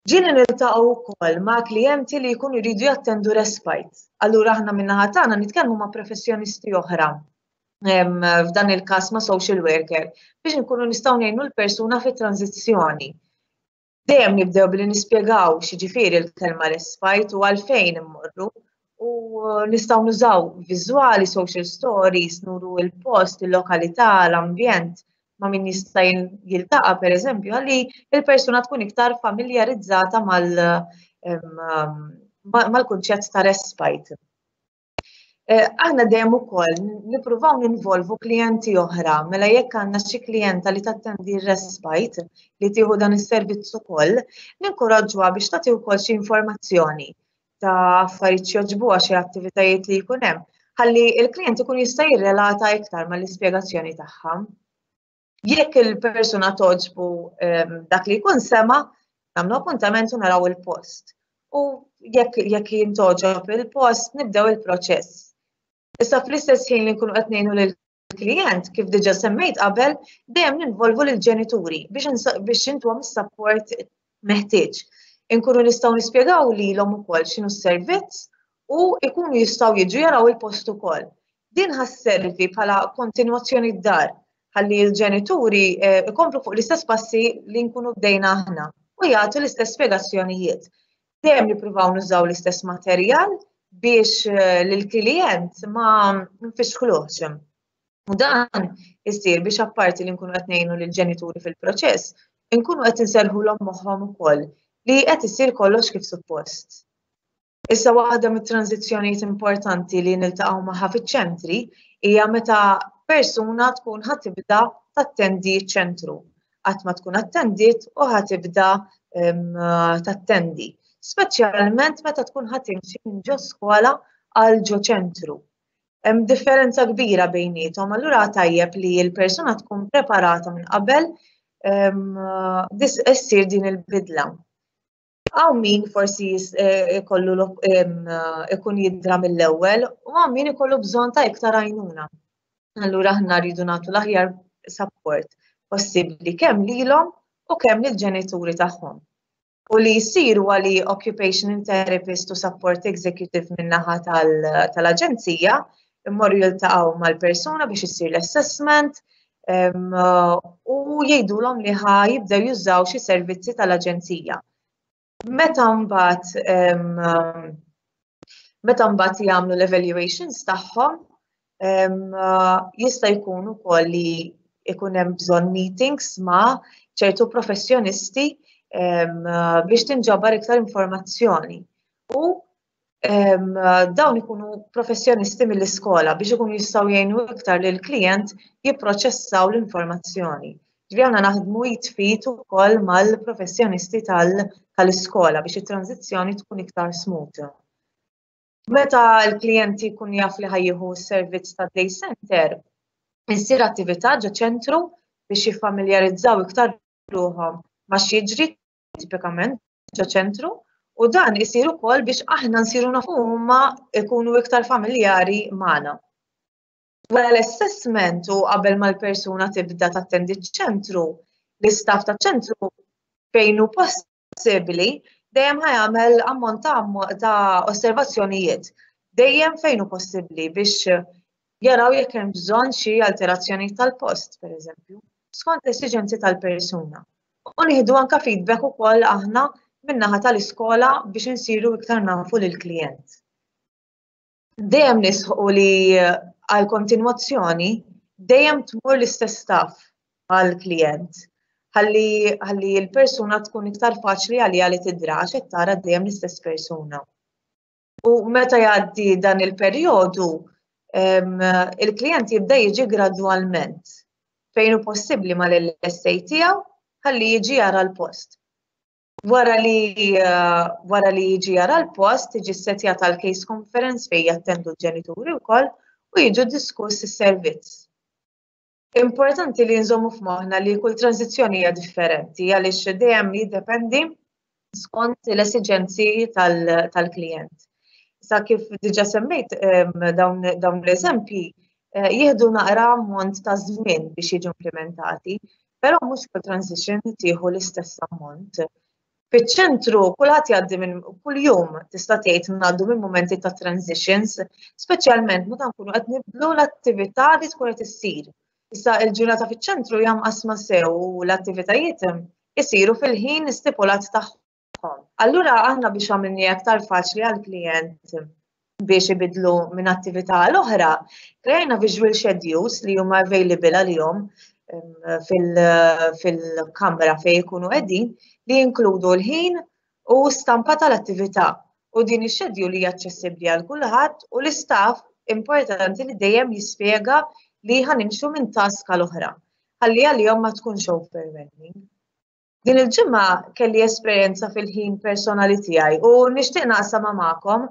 Ġieli niltaqgħu wkoll ma' klijenti li jkunu jridu jattendu respite. Allura aħna min-naħa tagħna nitkellmu ma' professjonisti oħra f'dan il-każ ma' social worker biex nkunu nistgħu ngħinu l-persuna fit-tranżizzjoni. Dejjem nibdew billi nispjegaw x'jiġifieri l-kelma respite u għalfejn immorru u nistgħu nużaw viżwali, social stories, nuru il-post, il-lokalità, l-ambjent ma' min jista' jiltaqa' pereżempju għalli il-persuna tkun iktar familjarizzata mal-kunċett ta' respite. Eh, aħna dejjem ukoll nippruvaw ninvolvu klijenti oħra, mela jekk għandna xi klijenta li tattendi r-respite li tieħu dan is-servizz ukoll, ninkoraġġuha biex tagħti wkoll xi informazzjoni ta' affarijiet xi xi attivitajiet li jkun hemm, ħalli l-klijent ikun jista' jirrelata iktar mal-ispjegazzjoni tagħha. Jekk il-persuna toġbu ehm, dak li jkun sema, nagħmlu appuntament u naraw il-post. U jekk jekk jintoġob il-post, nibdew il-proċess. Issa fl-istess ħin li nkunu qed ngħinu lill-klijent, kif diġà semmejt qabel, dejjem ninvolvu lill-ġenituri biex biex intuhom is-support meħtieġ. Inkunu nistgħu nispjegaw lilhom ukoll x'inhu s-servizz u jkunu jistgħu jiġu jaraw il-post ukoll. Din ħa sservi bħala kontinwazzjoni d-dar ħalli l-ġenituri eh, ikomplu fuq l-istess passi li nkunu bdejna aħna u jagħtu l-istess spjegazzjonijiet. Dejjem nippruvaw nużaw l-istess materjal biex eh, lill-klijent ma nfixkluhx. U dan isir biex apparti li nkunu qed ngħinu lill-ġenituri fil-proċess, inkunu qed inserħulhom moħħhom ukoll li qed isir kollox kif suppost. Issa waħda mit-tranżizzjonijiet importanti li niltaqgħu magħha fiċ-ċentri hija meta persuna tkun ħa tibda tattendi ċ-ċentru. Qatt ma tkun attendiet u ħa tibda tattendi. Speċjalment meta tkun ħa timxi minn ġo skola għal ġo ċentru. Hemm differenza kbira bejniethom, allura tajjeb li l-persuna tkun preparata minn qabel issir din il-bidla. Hawn min forsi eh, ikollu ikun jidra mill-ewwel u hawn min ikollu bżonn ta' iktar għajnuna. Allura aħna rridu nagħtu l-aħjar support possibbli kemm lilhom u kemm lill-ġenituri tagħhom. U li jsir huwa li occupational therapist u support executive min-naħa tal-aġenzija immorru jiltaqgħu mal-persuna biex issir l-assessment u jgħidulhom li ħa jibdew jużaw xi servizzi tal-aġenzija. Meta mbagħad meta mbagħad jagħmlu l-evaluations tagħhom, jista' jkun ukoll li ikun hemm bżonn meetings ma' ċertu professjonisti biex tinġabar iktar informazzjoni. U dawn ikunu professjonisti mill-iskola biex ikunu jistgħu jgħinu iktar lil klijent jipproċessaw l-informazzjoni. Ġifieri aħna naħdmu jitfit ukoll mal-professjonisti tal-iskola biex it-tranżizzjoni tkun iktar smooth. Meta l-klijenti jkun jaf li ħajjieħu s-servizz ta' day center, issir attività ġo ċentru biex jiffamiljarizzaw iktar ruħhom ma' x'jiġri tipikament ġo ċentru u dan isir ukoll biex aħna nsiru nafu huma jkunu iktar familjari magħna. Wara l-assessment u qabel ma l-persuna tibda tattendi ċ-ċentru, l-istaff taċ-ċentru fejn hu possibbli dejjem ħajamel ammont ta' osservazzjonijiet dejjem fejn hu possibbli biex jaraw jekk hemm bżonn xi alterazzjoni tal-post, pereżempju, skont l-esiġenzi tal-persuna. U nieħdu anka feedback ukoll aħna min-naħa tal-iskola biex insiru iktar nafu lill-klijent. Dejjem nisħu li għal kontinwazzjoni dejjem tmur l-istess staff għall-klijent ħalli ħalli l-persuna tkun iktar faċli għaliha li tidra għax qed tara dejjem l-istess persuna. U meta jgħaddi dan il-perjodu, il-klijent jibda jiġi gradwalment fejn hu possibbli mal-LSA tiegħu ħalli jiġi jara l-post. Wara li wara li jiġi jara l-post, tiġi ssetjata l-case conference fejn jattendu l-ġenituri wkoll u jiġu diskuss is-servizz. Importanti li nżommu f'moħħna li kull tranżizzjoni hija differenti għaliex dejjem jiddependi skont l-esiġenzi tal-klijent. Sa kif diġa semmejt dawn l-eżempji eh, jieħdu naqra ammont ta' żmien biex jiġu implementati, però mhux kull transition tieħu l-istess ammont. Fiċ-ċentru kulħadd jgħaddi minn kuljum tista' tgħid ngħaddu minn mumenti ta' transitions, speċjalment meta nkunu qed nibdlu l-attività li tkun qed issir. Issa l-ġurnata fiċ-ċentru hija mqassma sew u l-attivitajiet isiru fil-ħin stipulat tagħhom. Allura aħna biex għamilni aktar faċli għall-klijent biex ibidlu minn attività għal oħra, krejna visual schedules li huma available għalihom fil-kamra fejn ikunu qegħdin li jinkludu l-ħin u stampa tal-attività. U din ix-schedule hija aċċessibbli għal kulħadd u l-istaff importanti li dejjem jispjega li ħanimxu minn task għal oħra. Ħalli għalihom ma tkunx overwhelming. Din il-ġimgħa kelli esperjenza fil-ħin personali tiegħi u nixtieq naqsamha magħkom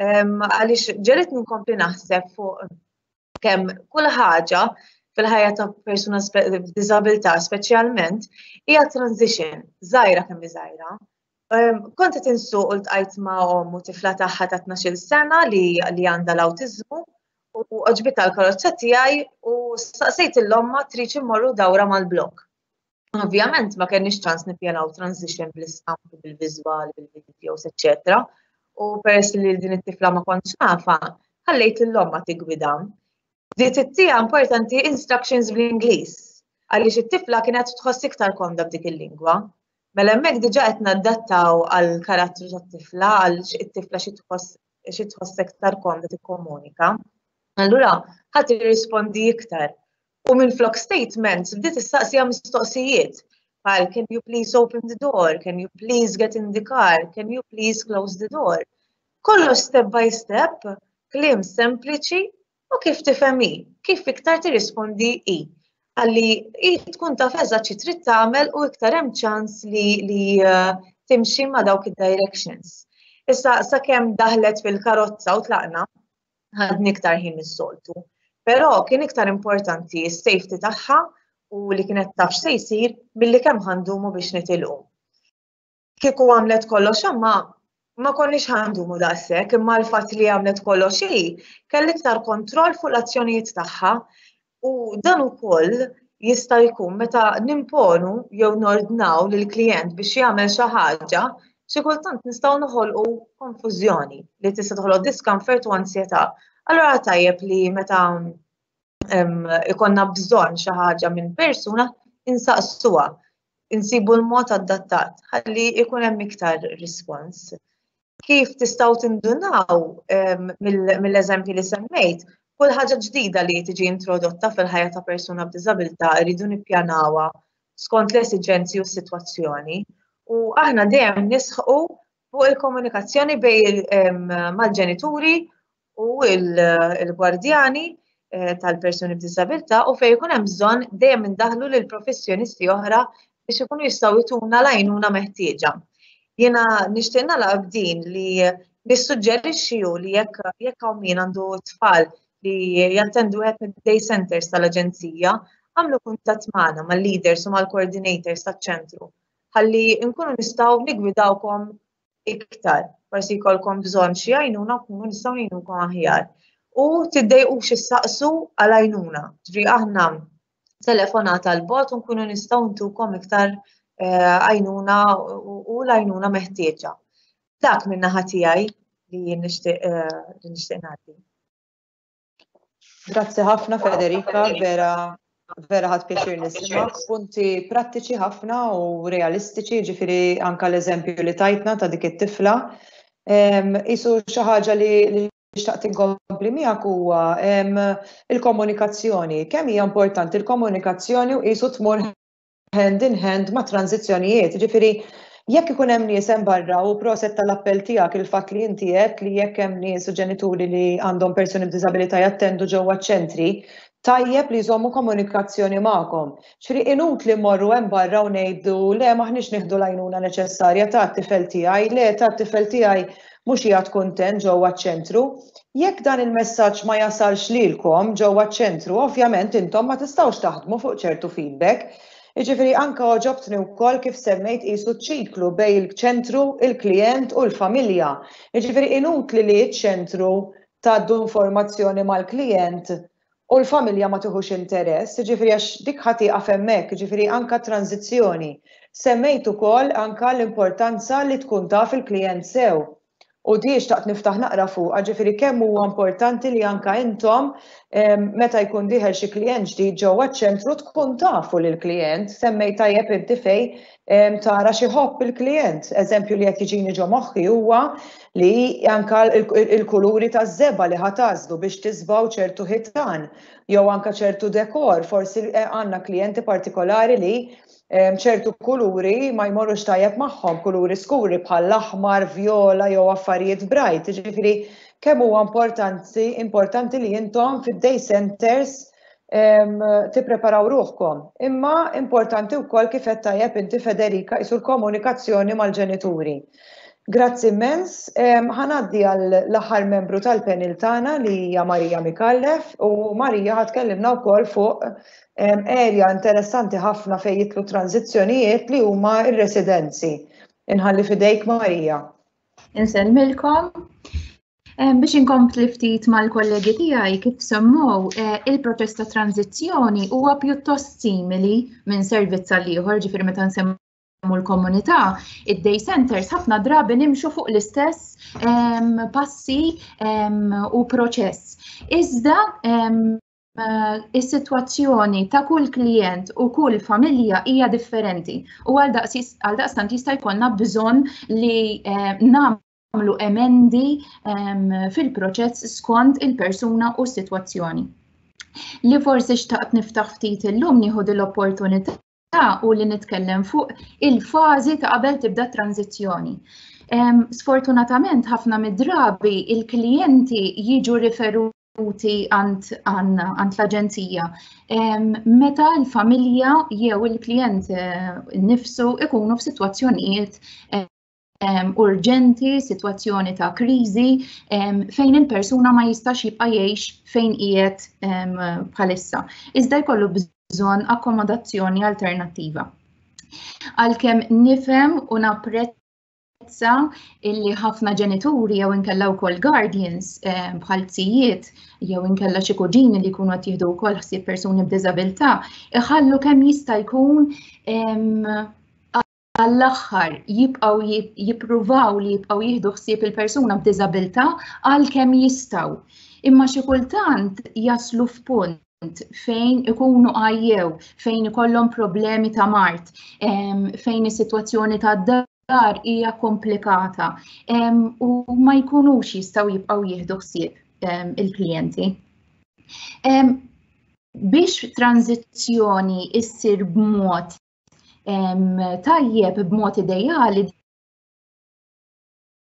għaliex ġelitni nkompli naħseb fuq kemm kull ħaġa fil-ħajja ta' persuna b'diżabilità speċjalment hija transition, żgħira kemm hi żgħira. Kont qed insuq u ltqajt ma' omm u tifla tagħha ta' 12-il sena li li għandha l-awtiżmu u għoġbitha l-karozza tiegħi u staqsejt il-omma tridx immorru dawra mal-blokk. Ovvjament ma kenniex ċans nippjanaw transition bl-istampi, bil-viżwali, bil-videos, eċċetera. U peress li din it-tifla ma kontx nafa, ħallejt l-omma tigwida. Bdiet ittieha importanti instructions bl-Ingliż, għaliex it-tifla kienet tħoss iktar komda b'dik il-lingwa. Mela hemmhekk diġà qed nadattaw għal karattru tat-tifla, għal it-tifla xi tħoss xi tħoss iktar komda tikkomunika. Allura ħadd irrispondi iktar. U minflok statements bdiet issaqsiha mistoqsijiet bħal can you please open the door, can you please get in the car, can you please close the door. Kollox step by step, kliem sempliċi u kif tifhem hi, kif iktar tirrispondi hi. Ħalli hi tkun taf eżatt xi trid tagħmel u iktar hemm ċans li, li eh, timxi ma' dawk id-directions. Issa sakemm daħlet fil-karozza u tlaqna, Ħadni iktar ħin mis-soltu. Però kien iktar importanti s-safety tagħha u li kienet taf x'se jsir milli kemm ħandumu biex nitilqu. Kieku għamlet kollox imma ma konniex ħandumu daqshekk, imma l-fatt li għamlet kollox hi kelli iktar kontroll fuq l-azzjonijiet tagħha u dan ukoll jista' jkun meta nimponu jew nordnaw lill-klijent biex jagħmel xi ħaġa, xi kultant nistgħu noħolqu konfużjoni li tista' toħloq discomfort u ansjetà. Allura tajjeb li meta ikonna bżonn xi ħaġa minn persuna insaqsuha, insibu l-mod adattat ħalli ikun hemm iktar rispons. Kif tistgħu tindunaw mill-eżempji li semmejt, kull ħaġa ġdida li tiġi introdotta fil-ħajja ta' persuna b'diżabilità rridu nippjanawha skont l-esiġenzi u s-sitwazzjoni. U aħna dejjem nisħqu fuq il-komunikazzjoni bej mal-ġenituri u l-gwardjani eh, tal-persuni b'diżabilità u fejn ikun hemm bżonn dejjem indaħlu lil professjonisti oħra biex ikunu jistgħu jtuna l-għajnuna meħtieġa. Jiena nixtieq nagħlaq b'din li nissuġġerixxi hu li jekk jekk hawn min għandu tfal li jattendu wieħed mid-day centers tal-aġenzija, għamlu kuntatt magħna mal-leaders u mal-coordinators taċ-ċentru ħalli nkunu nistgħu nigwidawkom iktar. Forsi jkollkom bżonn xi għajnuna nkunu nistgħu ngħinukom aħjar. U tiddejqux issaqsu għal għajnuna. Ġifieri aħna telefonata għal bot u nkunu nistgħu ntukom iktar eh, għajnuna u l-għajnuna meħtieġa. Dak minn naħa tiegħi li nixtieq eh, li nixtieq ngħaddi. Grazzi ħafna Federica, vera vera ħadd pjaċir nismak, punti prattiċi ħafna u realistiċi, ġifieri anka l-eżempju li tajtna ta' dik it-tifla. Isu xi ħaġa li xtaqt inkompli miegħek huwa il-komunikazzjoni. Kemm hija importanti l-komunikazzjoni u qisu tmur hand in hand ma' tranżizzjonijiet. Ġifieri jekk ikun hemm nies hemm barra u proset tal-appell tiegħek il-fatt li inti għedt li jekk hemm nies u ġenituri li għandhom persuni b'diżabilità jattendu ġewwa ċ-ċentri, tajjeb li jżommu komunikazzjoni magħkom. Ġifieri inutli mmorru hemm barra u ngħidu le m'aħniex nieħdu l-għajnuna neċessarja ta' tifel tiegħi, le ta' tifel tiegħi mhux qiegħed kuntent ġewwa ċ-ċentru. Jekk dan il-messaġġ ma jasalx lilkom ġewwa ċ-ċentru, ovvjament intom ma tistgħux taħdmu fuq ċertu feedback. Jiġifieri anke għoġobtni wkoll kif semmejt qisu ċ-ċiklu bejn il-ċentru, il-klijent u l-familja. Jiġifieri inutli li ċ-ċentru tgħaddu informazzjoni mal-klijent u l-familja ma tiħux interess, jiġifieri għax dik ħa tieqaf hemmhekk, jiġifieri anke t-tranżizzjoni. Semmejt ukoll anke l-importanza li tkun taf il-klijent sew. U di xtaqt niftaħ naqra fuqha, ġifieri kemm huwa importanti li anke intom meta jkun dieħel xi klijent ġdid ġewwa ċ-ċentru tkun tafu lill-klijent, semmejt tajjeb inti fejn tara xi ħobb il-klijent. Eżempju li qed jiġini ġo moħħi huwa li anke il-kuluri taż-żebgħa li ħa tagħżlu biex tiżbgħu ċertu ħitan jew anke ċertu dekor, forsi għandna klijenti partikolari li ċertu kuluri ma jmorrux tajjeb magħhom, kuluri skuri bħall-aħmar, vjola jew affarijiet bright. Ġifieri kemm huwa importanti importanti li intom fid-day centers tippreparaw ruħkom. Imma importanti wkoll kif qed tajjeb inti Federica qisu l-komunikazzjoni mal-ġenituri. Grazzi immens. Ħa ngħaddi għal l-aħħar membru tal-panel tagħna li hija Marija Micallef u Marija ħa tkellimna wkoll fuq area interessanti ħafna fejn jidħlu tranżizzjonijiet li huma r-residenzi. Inħalli fidejk Marija. Insellmilkom. Biex inkompli ftit mal-kollegi tiegħi kif semmow, eh, il-proċess ta' tranżizzjoni huwa pjuttost simili minn servizz għal ieħor, ġifieri meta nsemmu l-komunità, id-day centers ħafna drabi nimxu fuq l-istess passi u proċess. Iżda is-sitwazzjoni ta' kull klijent u kull familja hija differenti u għal daqstant jista' jkollna bżonn li nagħmlu emendi fil-proċess skont il-persuna u s-sitwazzjoni. Li forsi xtaqt niftaħ ftit illum nieħu l-opportunità u li nitkellem fuq il-fażi ta' qabel tibda tranzizzjoni. Sfortunatament ħafna mid-drabi il-klijenti jiġu riferuti għand l-aġenzija meta l-familja jew il-klijent eh, nifsu ikunu f'sitwazzjonijiet eh, urġenti, sitwazzjoni ta' kriżi fejn il-persuna ma jistax jibqa' jgħix fejn qiegħed bħalissa. Iżda jkollu bżonn akkomodazzjoni alternattiva. Għalkemm nifhem u napprezza illi ħafna ġenituri jew inkella wkoll guardians bħal zijiet jew inkella xi kuġini li jkunu qed jieħdu wkoll ħsieb persuni b'diżabilità, iħallu kemm jista' jkun għall-aħħar jibqgħu jippruvaw li jibqgħu jieħdu ħsieb il-persuna b'diżabilità għal kemm jistgħu. Imma xi kultant jaslu f'punt fejn ikunu għajjew, fejn ikollhom problemi ta' mard, fejn is-sitwazzjoni tad-dar hija komplikata u ma jkunux jistgħu jibqgħu jieħdu ħsieb il-klijenti. Biex tranżizzjoni issir b'mod tajjeb b'mod ideali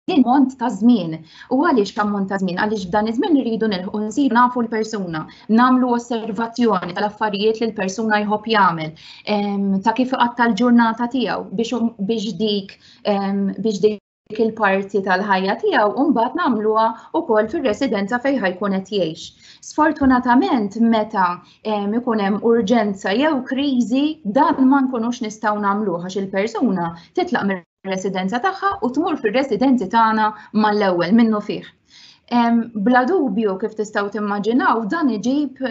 din ammont ta' żmien. U għaliex ammont ta' żmien? Għaliex f'dan iż-żmien irridu nilħqu nsiru nafu l-persuna, nagħmlu osservazzjoni tal-affarijiet li l-persuna jħobb jagħmel, ta' kif iqatta' l-ġurnata tiegħu biex dik biex dik il-parti tal-ħajja tiegħu u mbagħad nagħmluha wkoll fir-residenza fejn ħajkun qed jgħix. Sfortunatament meta ikun hemm urġenza jew kriżi dan ma nkunux nistgħu nagħmluh għax il-persuna titlaq mir-residenza tagħha u tmur fir-residenzi tagħna mal-ewwel minnu fih. Bla dubju kif tistgħu timmaġinaw dan iġib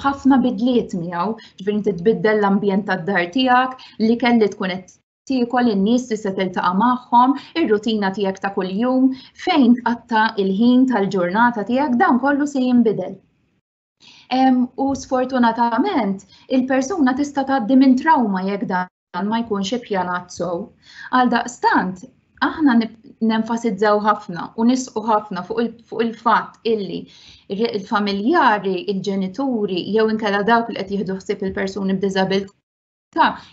ħafna bidliet miegħu, ġifieri inti tbiddel l-ambjent tad-dar tiegħek, li kelli tkun qed tiekol, in-nies li se tiltaqa' magħhom, ir-rutina tiegħek ta' kuljum, fejn tqatta' il-ħin tal-ġurnata tiegħek, dan kollu se jinbidel. U sfortunatament il-persuna tista' tgħaddi minn trauma jekk dan ma jkunx ippjanat sew. Għaldaqstant, aħna nenfasizzaw ħafna u nisqu ħafna fuq il-fatt illi il-familjari, il-ġenituri jew inkella dawk li qed jieħdu ħsieb il-persuni b'diżabilità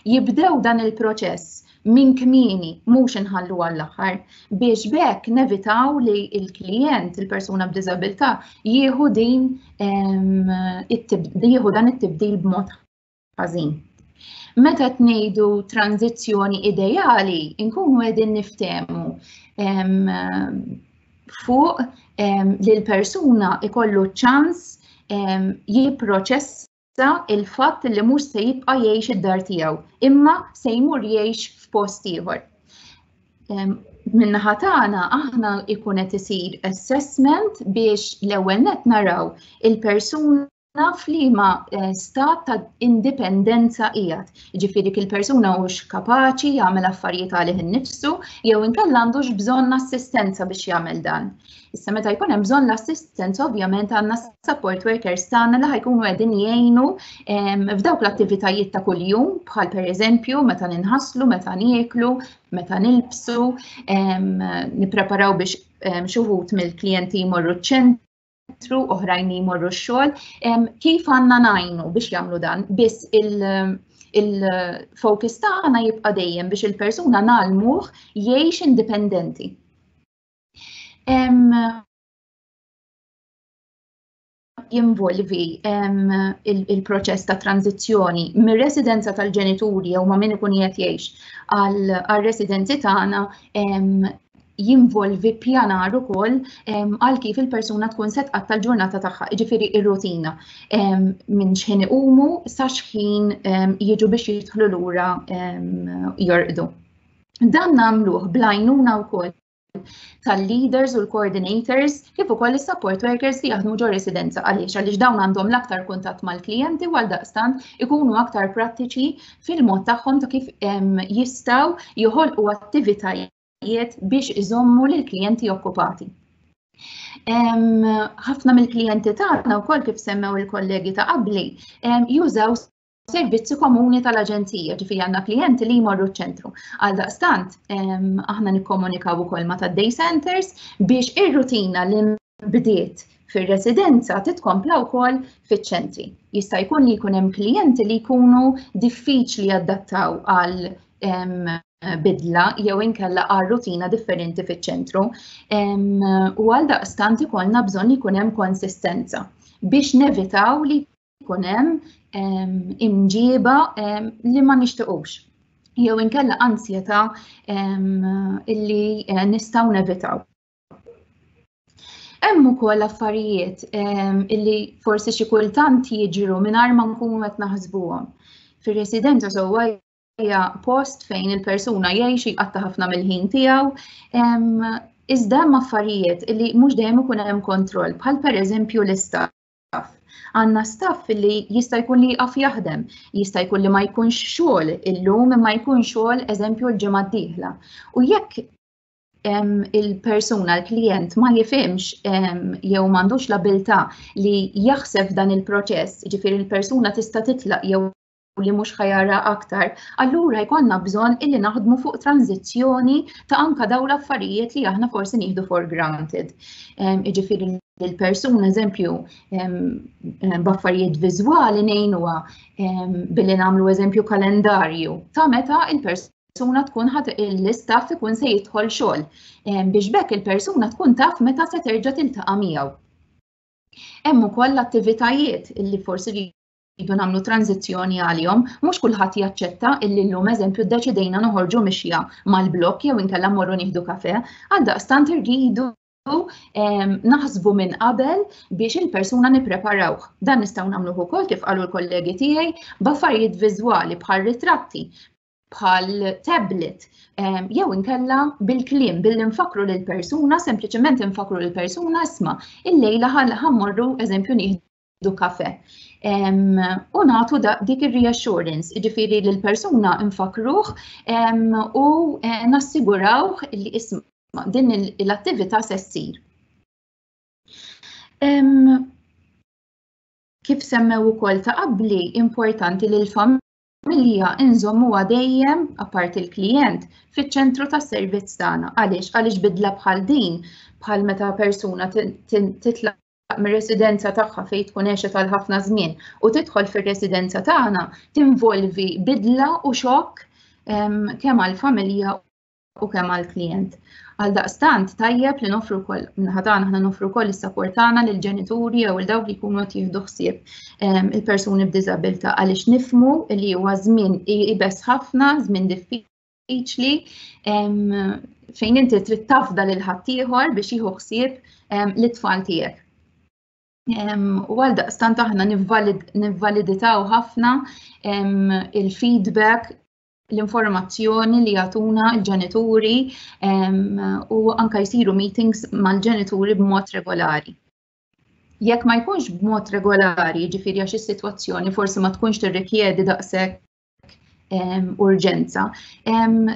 jibdew dan il-proċess minn kmieni, mhux inħallu għall-aħħar, biex b'hekk nevitaw li l-klijent, il-persuna b'diżabilità, jieħu din jieħu dan it-tibdil b'mod ħażin. Meta qed ngħidu tranżizzjoni ideali, inkunu qegħdin niftehmu fuq li l-persuna ikollu ċans jipproċessa il-fatt li mhux se jibqa' jgħix id-dar tiegħu, imma se jmur jgħix f'post ieħor. Min-naħa tagħna aħna jkun qed isir assessment biex l-ewwel nett naraw il-persuna f'liema stat ta' indipendenza qiegħed. Jiġifieri dik il-persuna hux kapaċi jagħmel affarijiet għalih innifsu jew inkella għandux bżonn assistenza biex jagħmel dan. Issa meta jkun hemm bżonn l-assistenza ovvjament għandna support workers tagħna li ħajkunu qegħdin jgħinu f'dawk l-attivitajiet ta' kuljum bħal pereżempju meta ninħaslu, meta nieklu, meta nilbsu, nippreparaw biex xi wħud mill-klijenti jmorru ċ-ċentru, oħrajn jmorru x-xogħol. Kif għandna ngħinu biex jagħmlu dan? Biss il-focus tagħna jibqa' dejjem biex il-persuna ngħallmuh jgħix indipendenti. Jinvolvi il-proċess ta' tranzizzjoni mir-residenza tal-ġenituri jew ma' min ikun qiegħed jgħix għal-residenzi tagħna jinvolvi pjanar ukoll għal kif il-persuna tkun se tqatta' l-ġurnata tagħha, jiġifieri r-rutina minn x'ħin iqumu sa x'ħin jiġu biex jidħlu lura jorqdu. Dan nagħmluh bl-għajnuna wkoll tal-leaders u l-coordinators kif ukoll is-support workers li jaħdmu ġo residenza. Għaliex? Għaliex dawn għandhom l-aktar kuntatt mal-klijenti u għaldaqstant ikunu aktar prattiċi fil-mod tagħhom ta' kif jistgħu joħolqu attivitajiet biex iżommu lill-klijenti okkupati. Ħafna mill-klijenti tagħna wkoll kif semmew il-kollegi ta' qabli jużaw servizzi komuni tal-aġenzija, ġifieri għandna klijenti li jmorru ċ-ċentru. Għaldaqstant, aħna nikkomunikaw ukoll ma' tad-day centers biex ir-rutina li bdiet fir-residenza titkompla wkoll fiċ-ċentri. Jista' jkun li jkun hemm klijenti li jkunu diffiċli jadattaw għal bidla jew inkella għal rutina differenti fiċ-ċentru. U għaldaqstant ikollna bżonn jkun hemm konsistenza biex nevitaw li jkun hemm imġiba li ma nixtiequx. jew inkella ansjetà illi eh, nistgħu nevitaw. Hemm ukoll affarijiet illi forsi xi kultant jiġru mingħajr ma nkunu qed naħsbuhom. Fir-residenza sewwa hija post fejn il-persuna jgħix jqatta' ħafna mill-ħin tiegħu. Iżda hemm affarijiet li mhux dejjem ikun hemm kontroll, bħal pereżempju l-istaff. Għandna staff li jista' jkun li jqaf jaħdem, jista' jkun li ma jkunx xogħol illum imma jkun xogħol eżempju l-ġimgħa d-dieħla. U jekk il-persuna, l-klient ma jifhimx jew m'għandux l-abilità li jaħseb dan il-proċess, ġifieri l-persuna tista' titlaq jew li mhux ħajara aktar, allura jkollna bżonn illi naħdmu fuq tranzizzjoni ta' anka dawn l-affarijiet li aħna forsi nieħdu for granted. Jiġifieri l-persuna eżempju b'affarijiet viżwali ngħinuha billi nagħmlu eżempju kalendarju ta' meta il-persuna tkun ħad l-istaff ikun se jidħol xogħol biex bekk il-persuna tkun taf meta se terġa' tiltaqa' miegħu. Hemm ukoll l-attivitajiet illi forsi rridu nagħmlu tranżizzjoni għalihom, mhux kulħadd jaċċetta illi llum eżempju ddeċidejna noħorġu mixja mal-blokk jew inkella mmorru nieħdu kafe, għaldaqstant irridu naħsbu minn qabel biex il-persuna nippreparawh. Dan nistgħu nagħmluh ukoll kif qalu l-kollegi tiegħi b'affarijiet viżwali bħal ritratti, bħal tablet jew inkella bil-kliem billi nfakru lil persuna, sempliċement nfakru lil persuna isma' illejla ħammorru eżempju nieħdu nieħdu kafe. U nagħtu dik ir-reassurance, jiġifieri lil persuna nfakruh u eh, nassigurawh li isma' din l-attività se ssir. Kif semmew ukoll ta' qabli, importanti li l-familja inżommuha dejjem, apparti l-klijent, fiċ-ċentru tas-servizz tagħna. Għaliex? Għaliex bidla bħal din, bħal meta persuna titlaq mir-residenza tagħha fejn tkun għexet għal ħafna żmien u tidħol fir-residenza tagħna tinvolvi bidla u xokk kemm għall-familja u kemm għall-klijent. Għaldaqstant tajjeb li nofru wkoll minnaħa tagħna aħna nofru wkoll is-sapport tagħna lill-ġenituri jew il dawk li jkunu qed jieħdu ħsieb il-persuni b'diżabilità għaliex nifhmu li huwa żmien ibes ħafna, żmien diffiċli diffiċli fejn inti trid tafda lil ħaddieħor biex jieħu ħsieb l-itfal tiegħek. U għal daqstant aħna nivvaliditaw ħafna il-feedback l-informazzjoni li jagħtuna l-ġenituri u anka jsiru meetings mal-ġenituri b'mod regolari. Jekk ma jkunx b'mod regolari, ġifieri għax is-sitwazzjoni forsi ma tkunx tirrikjedi daqshekk urġenza,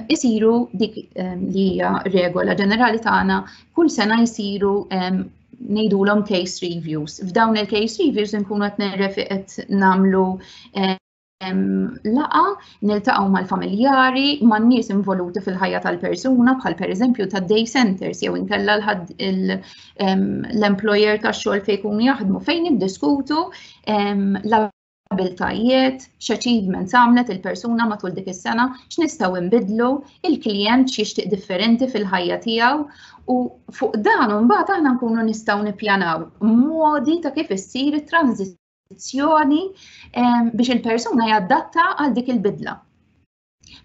isiru dik li hija regola ġenerali tagħna kull sena jsiru ngħidulhom case reviews. F'dawn il-case reviews nkunu qed nirrefi qed nagħmlu laqa niltaqgħu mal-familjari, man-nies involuti fil-ħajja tal-persuna bħal pereżempju ta' day centers jew inkella l-employer tax-xogħol fejn jkunu jaħdmu fejn niddiskutu abiltajiet, x'achievements għamlet il-persuna matul dik is-sena, x'nistgħu nbiddlu, il-klijent x'jixtieq differenti fil-ħajja tiegħu u fuq dan imbagħad aħna nkunu nistgħu nippjanaw modi ta' kif issir it-tranżizzjoni biex il-persuna jadatta għal dik il-bidla.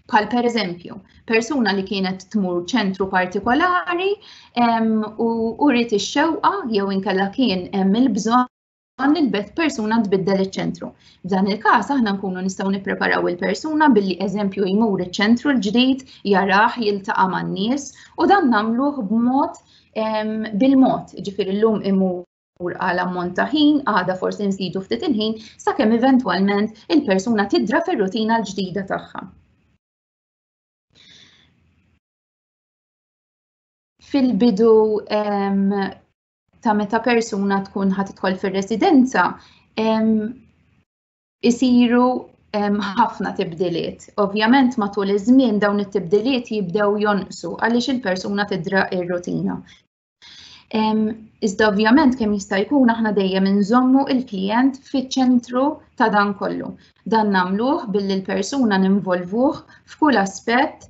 Bħal per eżempju, persuna li kienet tmur ċentru partikolari u uriet ix-xewqa jew inkella kien hemm il-bżonn li l-beth persuna tbiddel iċ-ċentru. F'dan il-każ aħna nkunu nistgħu nippreparaw il-persuna billi eżempju jmur iċ-ċentru l-ġdid, jarah, jiltaqa' man-nies u dan nagħmluh b'mod bil-mod, ġifieri llum imur għal ammont ta' ħin, għada forsi nżidu ftit il-ħin, sakemm eventwalment il-persuna tidra fir-rutina l-ġdida tagħha. Fil-bidu ta' meta persuna tkun ħa tidħol fir-residenza isiru ħafna tibdiliet. Ovvjament matul iż-żmien dawn it-tibdiliet jibdew jonqsu għaliex il-persuna tidra ir-rutina. Iżda ovvjament kemm jista' jkun aħna dejjem inżommu il-klijent fiċ-ċentru ta' dan kollu. Dan nagħmluh billi l-persuna ninvolvuh f'kull aspett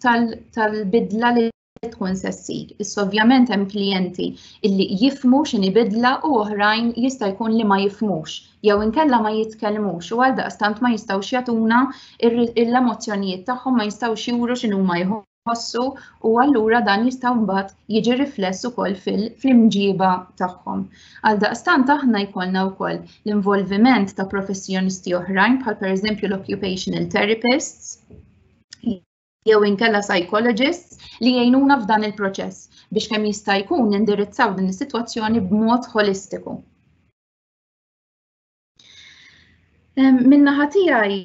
tal-bidla li tkun se ssir. Issa ovvjament hemm klijenti illi jifhmu x'inhi bidla u oħrajn jista' jkun li ma jifhmux jew inkella ma jitkellmux u għaldaqstant ma jistgħux jagħtuna l-emozzjonijiet tagħhom ma jistgħux juru x'inhuma jħossu u allura dan jista' mbagħad jiġi rifless ukoll fl-imġiba tagħhom. Għaldaqstant aħna jkollna wkoll l-involviment ta' professjonisti oħrajn bħal pereżempju l-occupational therapists jew inkella psychologists li jgħinuna f'dan il-proċess biex kemm jista' jkun nindirizzaw din is-sitwazzjoni b'mod holistiku. Min-naħa tiegħi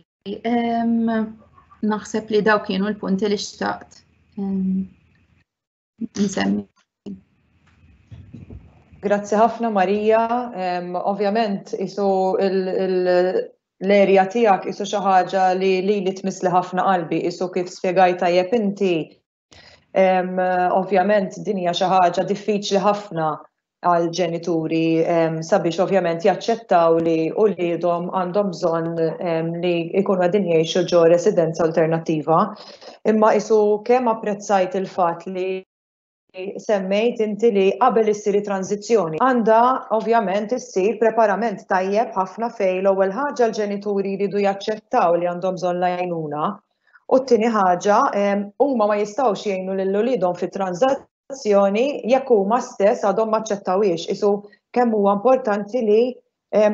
naħseb li daw kienu l-punti li xtaqt nsemmi. Grazzi ħafna Marija. Ovvjament isu l-erja tiegħek isu xi ħaġa li lili tmissli ħafna qalbi, isu kif spjegajt tajjeb inti. Ovvjament din hija xi ħaġa diffiċli ħafna għal ġenituri sabiex ovvjament jaċċettaw li uliedhom għandhom bżonn li jkunu qegħdin jgħixu ġo residenza alternattiva. Imma isu kemm apprezzajt il-fatt li semmejt inti li qabel issir it-tranżizzjoni għandha ovvjament issir preparament tajjeb ħafna fejn l-ewwel ħaġa l-ġenituri jridu jaċċettaw li għandhom bżonn l-għajnuna u t-tieni ħaġa huma ma jistgħux jgħinu lil uliedhom fit-tranżazzjoni jekk huma stess għadhom ma aċċettawhiex. Isu kemm huwa importanti li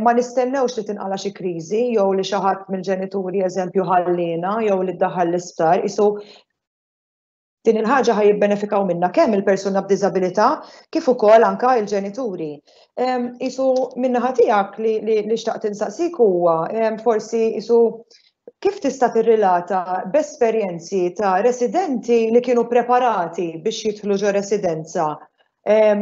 ma nistennewx li tinqala xi kriżi jew li xi ħadd mill-ġenituri eżempju ħallina jew li ddaħħal l-isptar, isu Din il-ħaġa ħa jibbenefikaw minnha kemm il-persuna b'diżabilità kif ukoll anka il-ġenituri. Isu min-naħa tiegħek li, li, li xtaqt insaqsik huwa forsi isu kif tista' tirrilata b'esperjenzi ta' residenti li kienu preparati biex jidħlu ġo residenza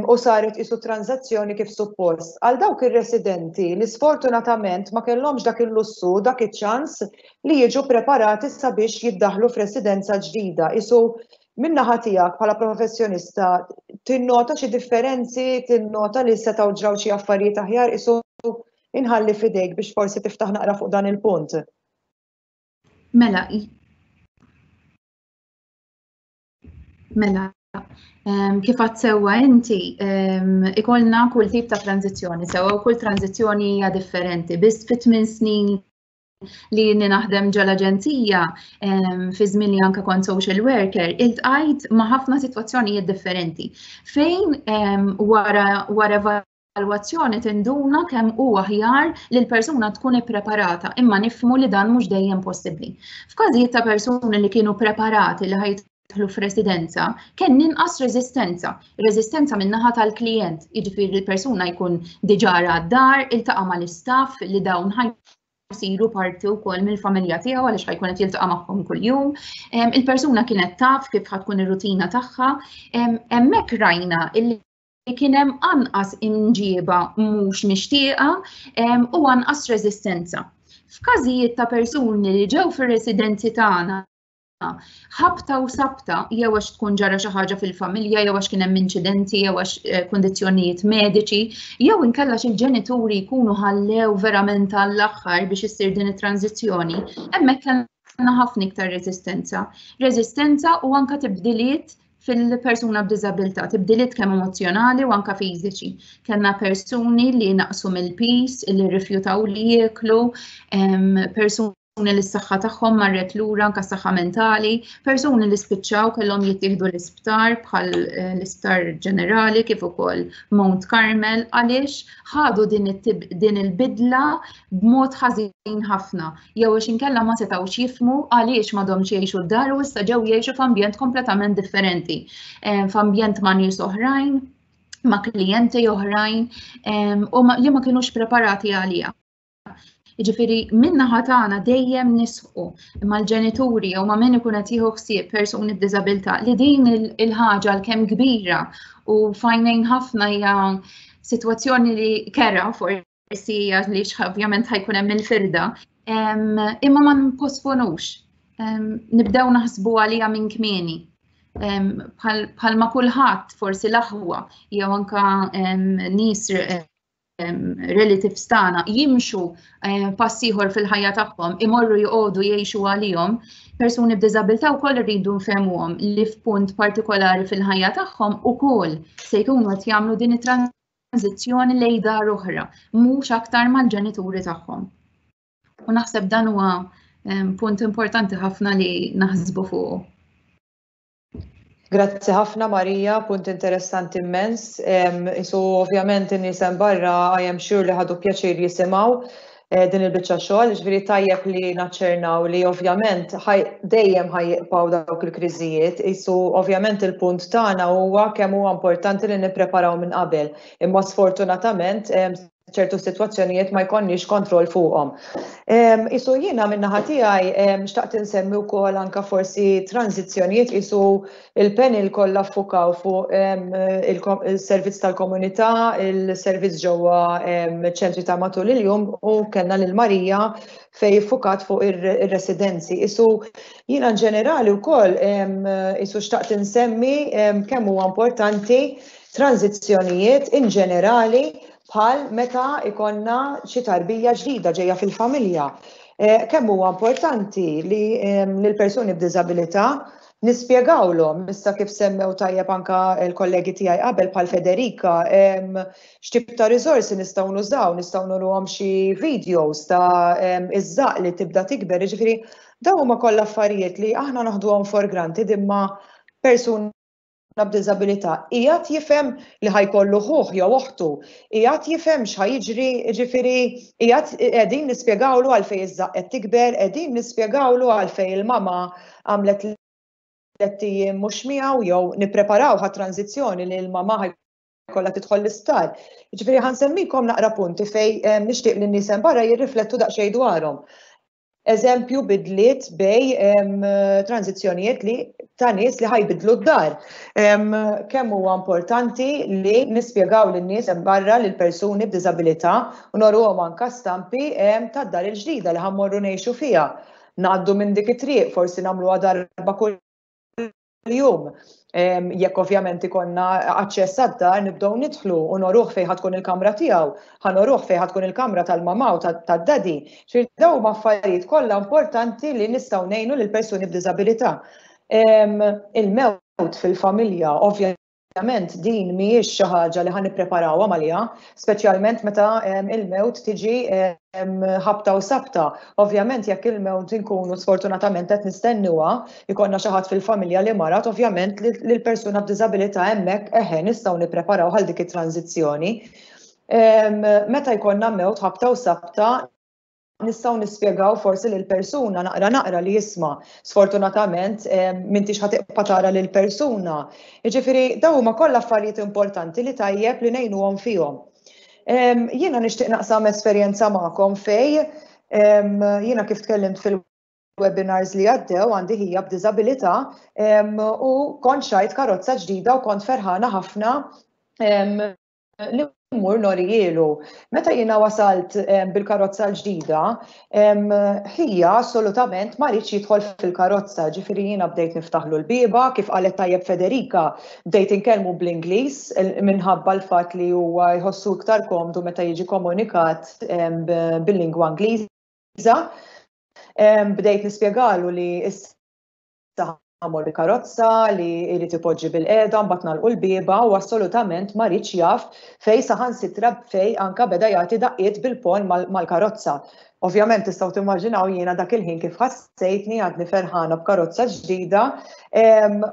u saret isu transazzjoni kif suppost. Għal dawk ir-residenti li sfortunatament ma kellhomx dak il-lussu, dak iċ-ċans li jiġu preparati sabiex jiddaħlu f'residenza ġdida. Isu min-naħa tiegħek bħala professjonista tinnota xi differenzi, tinnota li setgħu ġraw xi affarijiet aħjar, isu inħalli f'idejk biex forsi tiftaħ naqra fuq dan il-punt. Mela, Mela, kif għad sewwa inti, ikollna kull tip ta' tranzizzjoni, sewwa u kull tranzizzjoni hija differenti. Biss fit tmien snin li jien naħdem ġol-aġenzija, fi żmien li anke kont social worker, iltqajt ma' ħafna sitwazzjonijiet differenti. Fejn wara wara evalwazzjoni tinduna kemm hu aħjar li l-persuna tkun ippreparata, imma nifhmu li dan mhux dejjem possibbli. F'każijiet ta' persuni li kienu preparati li ħajtħlu f'residenza, kien inqas reżistenza. Reżistenza min-naħa tal-klijent, jiġifieri l-persuna jkun diġà ra d-dar, iltaqa' mal-istaff li dawn ħaj jsiru parti wkoll mill-familja tiegħu għaliex ħajkun qed jiltaqa' magħhom kuljum. Il-persuna kienet taf kif ħatkun ir-rutina tagħha. Hemmhekk rajna illi kien hemm anqas imġieba mhux mixtieqa u anqas reżistenza. F'każijiet ta' persuni li ġew fir-residenzi tagħna ħabta u sabta jew għax tkun ġara xi ħaġa fil-familja jew għax kien hemm inċidenti jew għax eh, kundizzjonijiet mediċi jew inkella xi ġenituri jkunu ħallew verament għall-aħħar biex issir din it-tranzizzjoni, hemmhekk kellna ħafna iktar reżistenza. Reżistenza u anka tibdiliet fil-persuna b'diżabilità, tibdiliet kemm emozzjonali u anka fiżiċi. Kellna persuni li naqsu mill-pis, li rrifjutaw li jieklu, persuni li s-saħħa tagħhom marret lura anka s-saħħa mentali, persuni li spiċċaw kellhom jittieħdu l-isptar bħal eh, l-isptar ġenerali kif ukoll Mount Carmel għaliex ħadu din il-bidla b'mod ħażin ħafna jew għax inkella ma setgħux jifhmu għaliex m'għadhomx jgħixu d-dar u issa ġew jgħixu f'ambjent kompletament differenti, eh, f'ambjent ma' nies oħrajn, ma' klijenti oħrajn eh, u li ma kinux preparati għaliha. Jiġifieri min-naħa tagħna dejjem nisħu mal-ġenituri jew ma' min ikun qed jieħu ħsieb persuni b'diżabilità li din il-ħaġa l-kemm kbira u fajnejn ħafna hija sitwazzjoni li kera forsi hija li ovvjament ħajkun hemm il-firda, imma ma nposponux. Nibdew naħsbu għalija minn kmieni. Bħal ma kulħadd forsi l-aħwa jew anka nies eh, Relatives tagħna jimxu pass ieħor fil-ħajja tagħhom, imorru joqogħdu jgħixu għalihom, persuni b'diżabilità wkoll irridu nfehmuhom li f'punt partikolari fil-ħajja tagħhom ukoll se jkunu qed jagħmlu din it-tranżizzjoni lejn dar oħra, mhux aktar mal-ġenituri tagħhom. U naħseb dan huwa punt importanti ħafna li naħsbu fuqu. Grazzi ħafna, Marija, punt interessanti immens. Isu ovvjament in-nies hemm barra, I am sure li ħadu pjaċir jisimgħu din il-biċċa xogħol, ġifieri tajjeb li naċċernaw li ovvjament dejjem ħa jibqgħu dawk il-kriżijiet. Isu ovvjament il-punt tagħna huwa kemm huwa importanti li nippreparaw minn qabel. Imma sfortunatament ċertu situazzjonijiet ma jkollniex kontroll fuqhom. Isu jiena min-naħa tiegħi xtaqt insemmi wkoll anka forsi tranzizzjonijiet. Isu il-panel kollha ffukaw fuq il-servizz tal-komunità, il-servizz ġewwa ċentri ta' matul il-jum u kellna lil Marija fej ffukat fuq ir-residenzi. Isu jiena ġenerali wkoll isu xtaqt insemmi kemm huwa importanti tranzizzjonijiet in ġenerali, bħal meta ikonna xi tarbija ġdida ġejja fil-familja. Kemm huwa importanti li l-persuni b'diżabilità nispjegawlhom, issa kif semmew tajjeb anka l-kollegi tiegħi qabel bħal Federica, x'tip ta' riżorsi nistgħu nużaw, nistgħu nuruhom xi videos ta' iż-żaq li tibda tikber, jiġifieri dawn huma kollha affarijiet li aħna naħduhom for granted, imma persuna b'diżabilità qiegħed jifhem li ħa jkollu ħuh jew oħtu, qiegħed jifhem x'ħa jiġri, ġifieri qiegħed qegħdin nispjegawlu għalfejn iż-żaqq qed tikber, qegħdin nispjegawlu għalfejn il-mama għamlet 3 ijiem mhux miegħu jew nippreparaw ħa tranzizzjoni li l-mama ħa jkollha tidħol l-isptar. Ġifieri ħa nsemmikom naqra punti fej nixtieq li n-nies barra jirriflettu daqsxejn dwarhom. Eżempju, bidliet bej tranzizzjonijiet li ta' nies li ħa jbiddlu d-dar. Kemm huwa importanti li nispjegaw lin-nies hemm barra, lil persuni b'diżabilità, u noruhom anka stampi tad-dar il-ġdida li ħa mmorru ngħixu fiha. Ngħaddu minn dik it-triq, forsi nagħmluha darba kull jum. Jekk ovvjament ikonna aċċess għad-dar, nibdew nidħlu u noruh fejn ħa tkun il-kamra tiegħu, ħa noruh fejn ħa tkun il-kamra tal-mama u tad-daddy. Ġifieri dawn huma affarijiet kollha importanti li nistgħu ngħinu lil persuni b'diżabilità. Il-mewt fil-familja, ovvjament din mhijiex xi ħaġa li ħa nippreparawha għaliha, speċjalment meta il-mewt tiġi ħabta u sabta. Ovvjament jekk il-mewt inkunu sfortunatament qed nistennuha, ikollna xi ħadd fil-familja li marat, ovvjament li l-persuna b'diżabilità hemmhekk eħe nistgħu nippreparaw għal dik it-tranzizzjoni. Meta jkollna mewt ħabta u sabta, nistgħu nispjegaw forsi lil persuna naqra naqra li jisma', sfortunatament m'intix ħa tibqa' tara lil persuna. Jiġifieri dawn huma kollha affarijiet importanti li tajjeb li ngħinuhom fihom. Jiena nixtieq naqsam esperjenza magħkom fej jiena, kif tkellimt fil-webinars li għaddew, għandi ħija b'diżabilità u kont xtrajt karozza ġdida u kont ferħana ħafna li mmur norihielu. Meta jiena wasalt bil-karozza l-ġdida, ħija assolutament ma riedx jidħol fil-karozza, ġifieri jiena bdejt niftaħlu l-bieba, kif qalet tajjeb Federica, bdejt inkellmu bl-Ingliż minħabba l-fatt li huwa jħossu iktar komdu meta jiġi komunikat bil-lingwa Ingliża. Bdejt nispjegalu li issa ħa mmur karozza, li jrid ipoġġi bil-qiegħda, mbagħad nagħlqu l-bieba, u assolutament ma riedx jaf, fej saħansitra fej anka beda jagħti daqqiet bil-pon mal-karozza. Ovvjament tistgħu timmaġinaw jiena dak il-ħin kif ħassejtni, għadni ferħana b'karozza ġdida,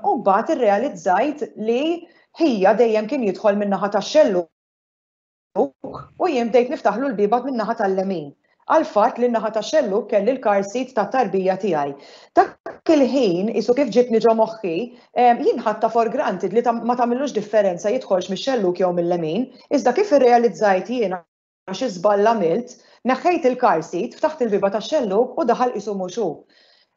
u mbagħad irrealizzajt li ħija dejjem kien jidħol min-naħa tax-xellug u jien bdejt niftaħlu l-bieba min-naħa tal-lemin għal fatt li n-naħa ta' xellug kelli l-car seat ta' tarbija tiegħi. Dak il-ħin, isu kif ġitni ġo moħħi, jien ħadtha for granted li ma tagħmillux differenza jidħolx mix-xellug jew mill-lemin, iżda kif irrealizzajt jiena xi żball għamilt, neħħejt il-car seat, ftaħt il-bieba ta' xellug u daħal qisu mhux hu.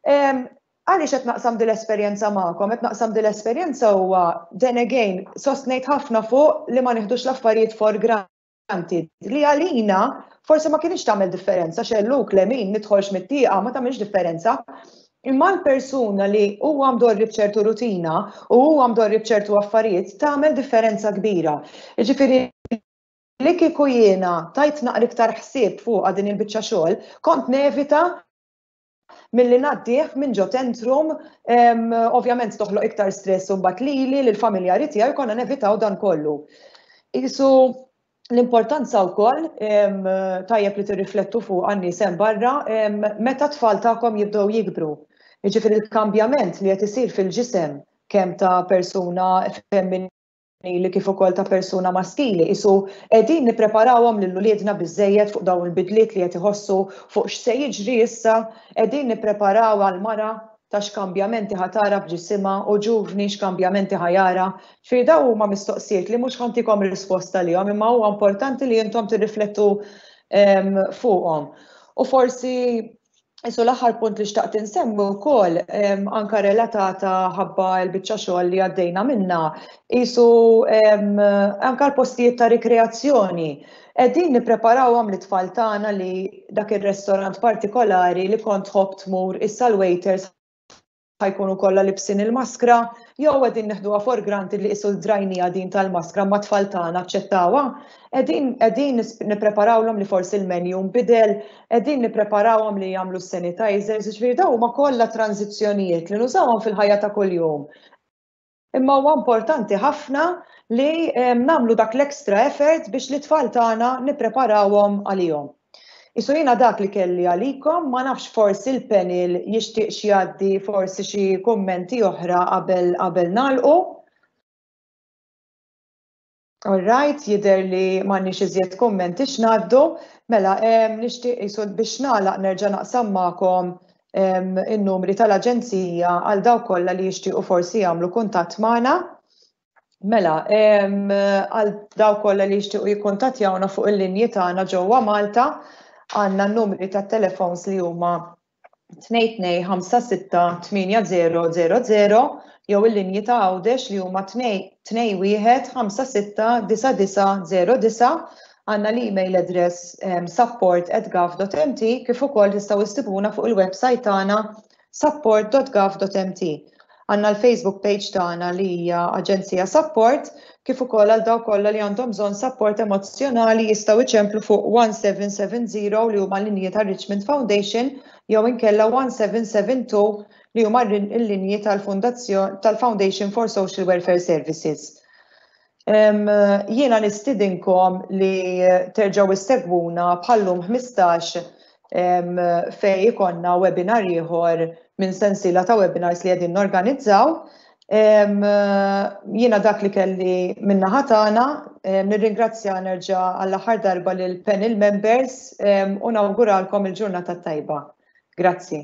Għaliex qed naqsam din l-esperjenza magħkom? Qed naqsam din l-esperjenza huwa, then again, sostnejt ħafna fuq li ma nieħdux l-affarijiet for granted. Li għalina forsi ma kienx tagħmel differenza xellug, lemin, nidħolx mit-tieqa, ma tagħmilx differenza. Imma l-persuna li huwa mdorri b'ċertu rutina u huwa mdorri b'ċertu affarijiet, tagħmel differenza kbira. Jiġifieri. Li kieku jiena tajt naqra iktar ħsieb fuqha din il-biċċa xogħol, kont nevita milli ngħaddih minn ġo tantrum, ovvjament toħloq iktar stress u mbagħad lili, lill-familjari tiegħi konna nevitaw dan kollu. Qisu l-importanza wkoll tajjeb li tirriflettu fuq għan-nies hemm barra meta t-tfal tagħkom jibdew jikbru. Jiġifieri l-kambjament li qed isir fil-ġisem kemm ta' persuna femminili kif ukoll ta' persuna maskili, qisu qegħdin nippreparawhom lil uliedna biżżejjed fuq dawn il-bidliet li qed iħossu fuq x'se jiġri issa, qegħdin nippreparaw għall-mara ta' x'kambjamenti ħa tara f'ġisimha u ġuvni x'kambjamenti ħa jara. Ġifieri dawn huma mistoqsijiet li mhux ħa ntikom risposta għalihom imma huwa importanti li intom tirriflettu fuqhom. U forsi Isu l-aħħar punt li xtaqt insemmi wkoll anka relatata ħabba l-biċċa xogħol li għaddejna minna, isu anka l-postijiet ta' rikreazzjoni. Qegħdin nippreparawhom lit-tfal tagħna li dak ir-restorant partikolari li kont tħobb tmur issa l-waiters ħa jkunu kollha libsin il-maskra, jew qegħdin neħduha for granted li qisu drajnija din tal-maskra ma tfal tagħna aċċettawha. Qegħdin qegħdin nippreparawlhom li forsi l-menu nbidel, qegħdin nippreparawhom li jagħmlu sanitizers, jiġifieri dawn huma kollha tranżizzjonijiet li nużawhom fil-ħajja ta' kuljum. Imma huwa importanti ħafna li nagħmlu dak l-extra effort biex l-itfal tagħna nippreparawhom għalihom. Isu jiena dak li kelli għalikom, ma nafx forsi l-panel jixtieqx jgħaddi forsi xi kummenti oħra qabel qabel nagħlqu. All right, jidher li m'għandniex iżjed kummenti x'ngħaddu. Mela, nixtieq jisu biex nagħlaq nerġa' naqsam magħkom in-numri tal-aġenzija għal dawk kollha li jixtiequ forsi jagħmlu kuntatt magħna. Mela, għal dawk kollha li jixtiequ jikkuntattjawna fuq il-linji tagħna ġewwa Malta, għandna n-numri tat-telefons li huma 22568000 jew il-linji ta' Għawdex li huma 21 569909. Għandna l-email address support@gov.mt kif ukoll tistgħu issibuna fuq il-website tagħna support.gov.mt. Għandna l-Facebook page tagħna li hija Aġenzija Sapport kif ukoll għal dawk kollha li għandhom bżonn sapport emozzjonali jistgħu iċemplu fuq 1770 li huma l-linji tar-Richmond Foundation jew inkella 1772 li huma l-linji tal-Foundation for Social Welfare Services. Jiena nistidinkom li terġgħu issegwuna bħallum 15 fej ikonna webinar ieħor minn sensiela ta' webinars li qegħdin norganizzaw. Jiena dak li kelli min-naħa tagħna, nirringrazzja nerġa' għall-aħħar darba lil panel members u nawguralkom il-ġurnata tajba. Grazzi.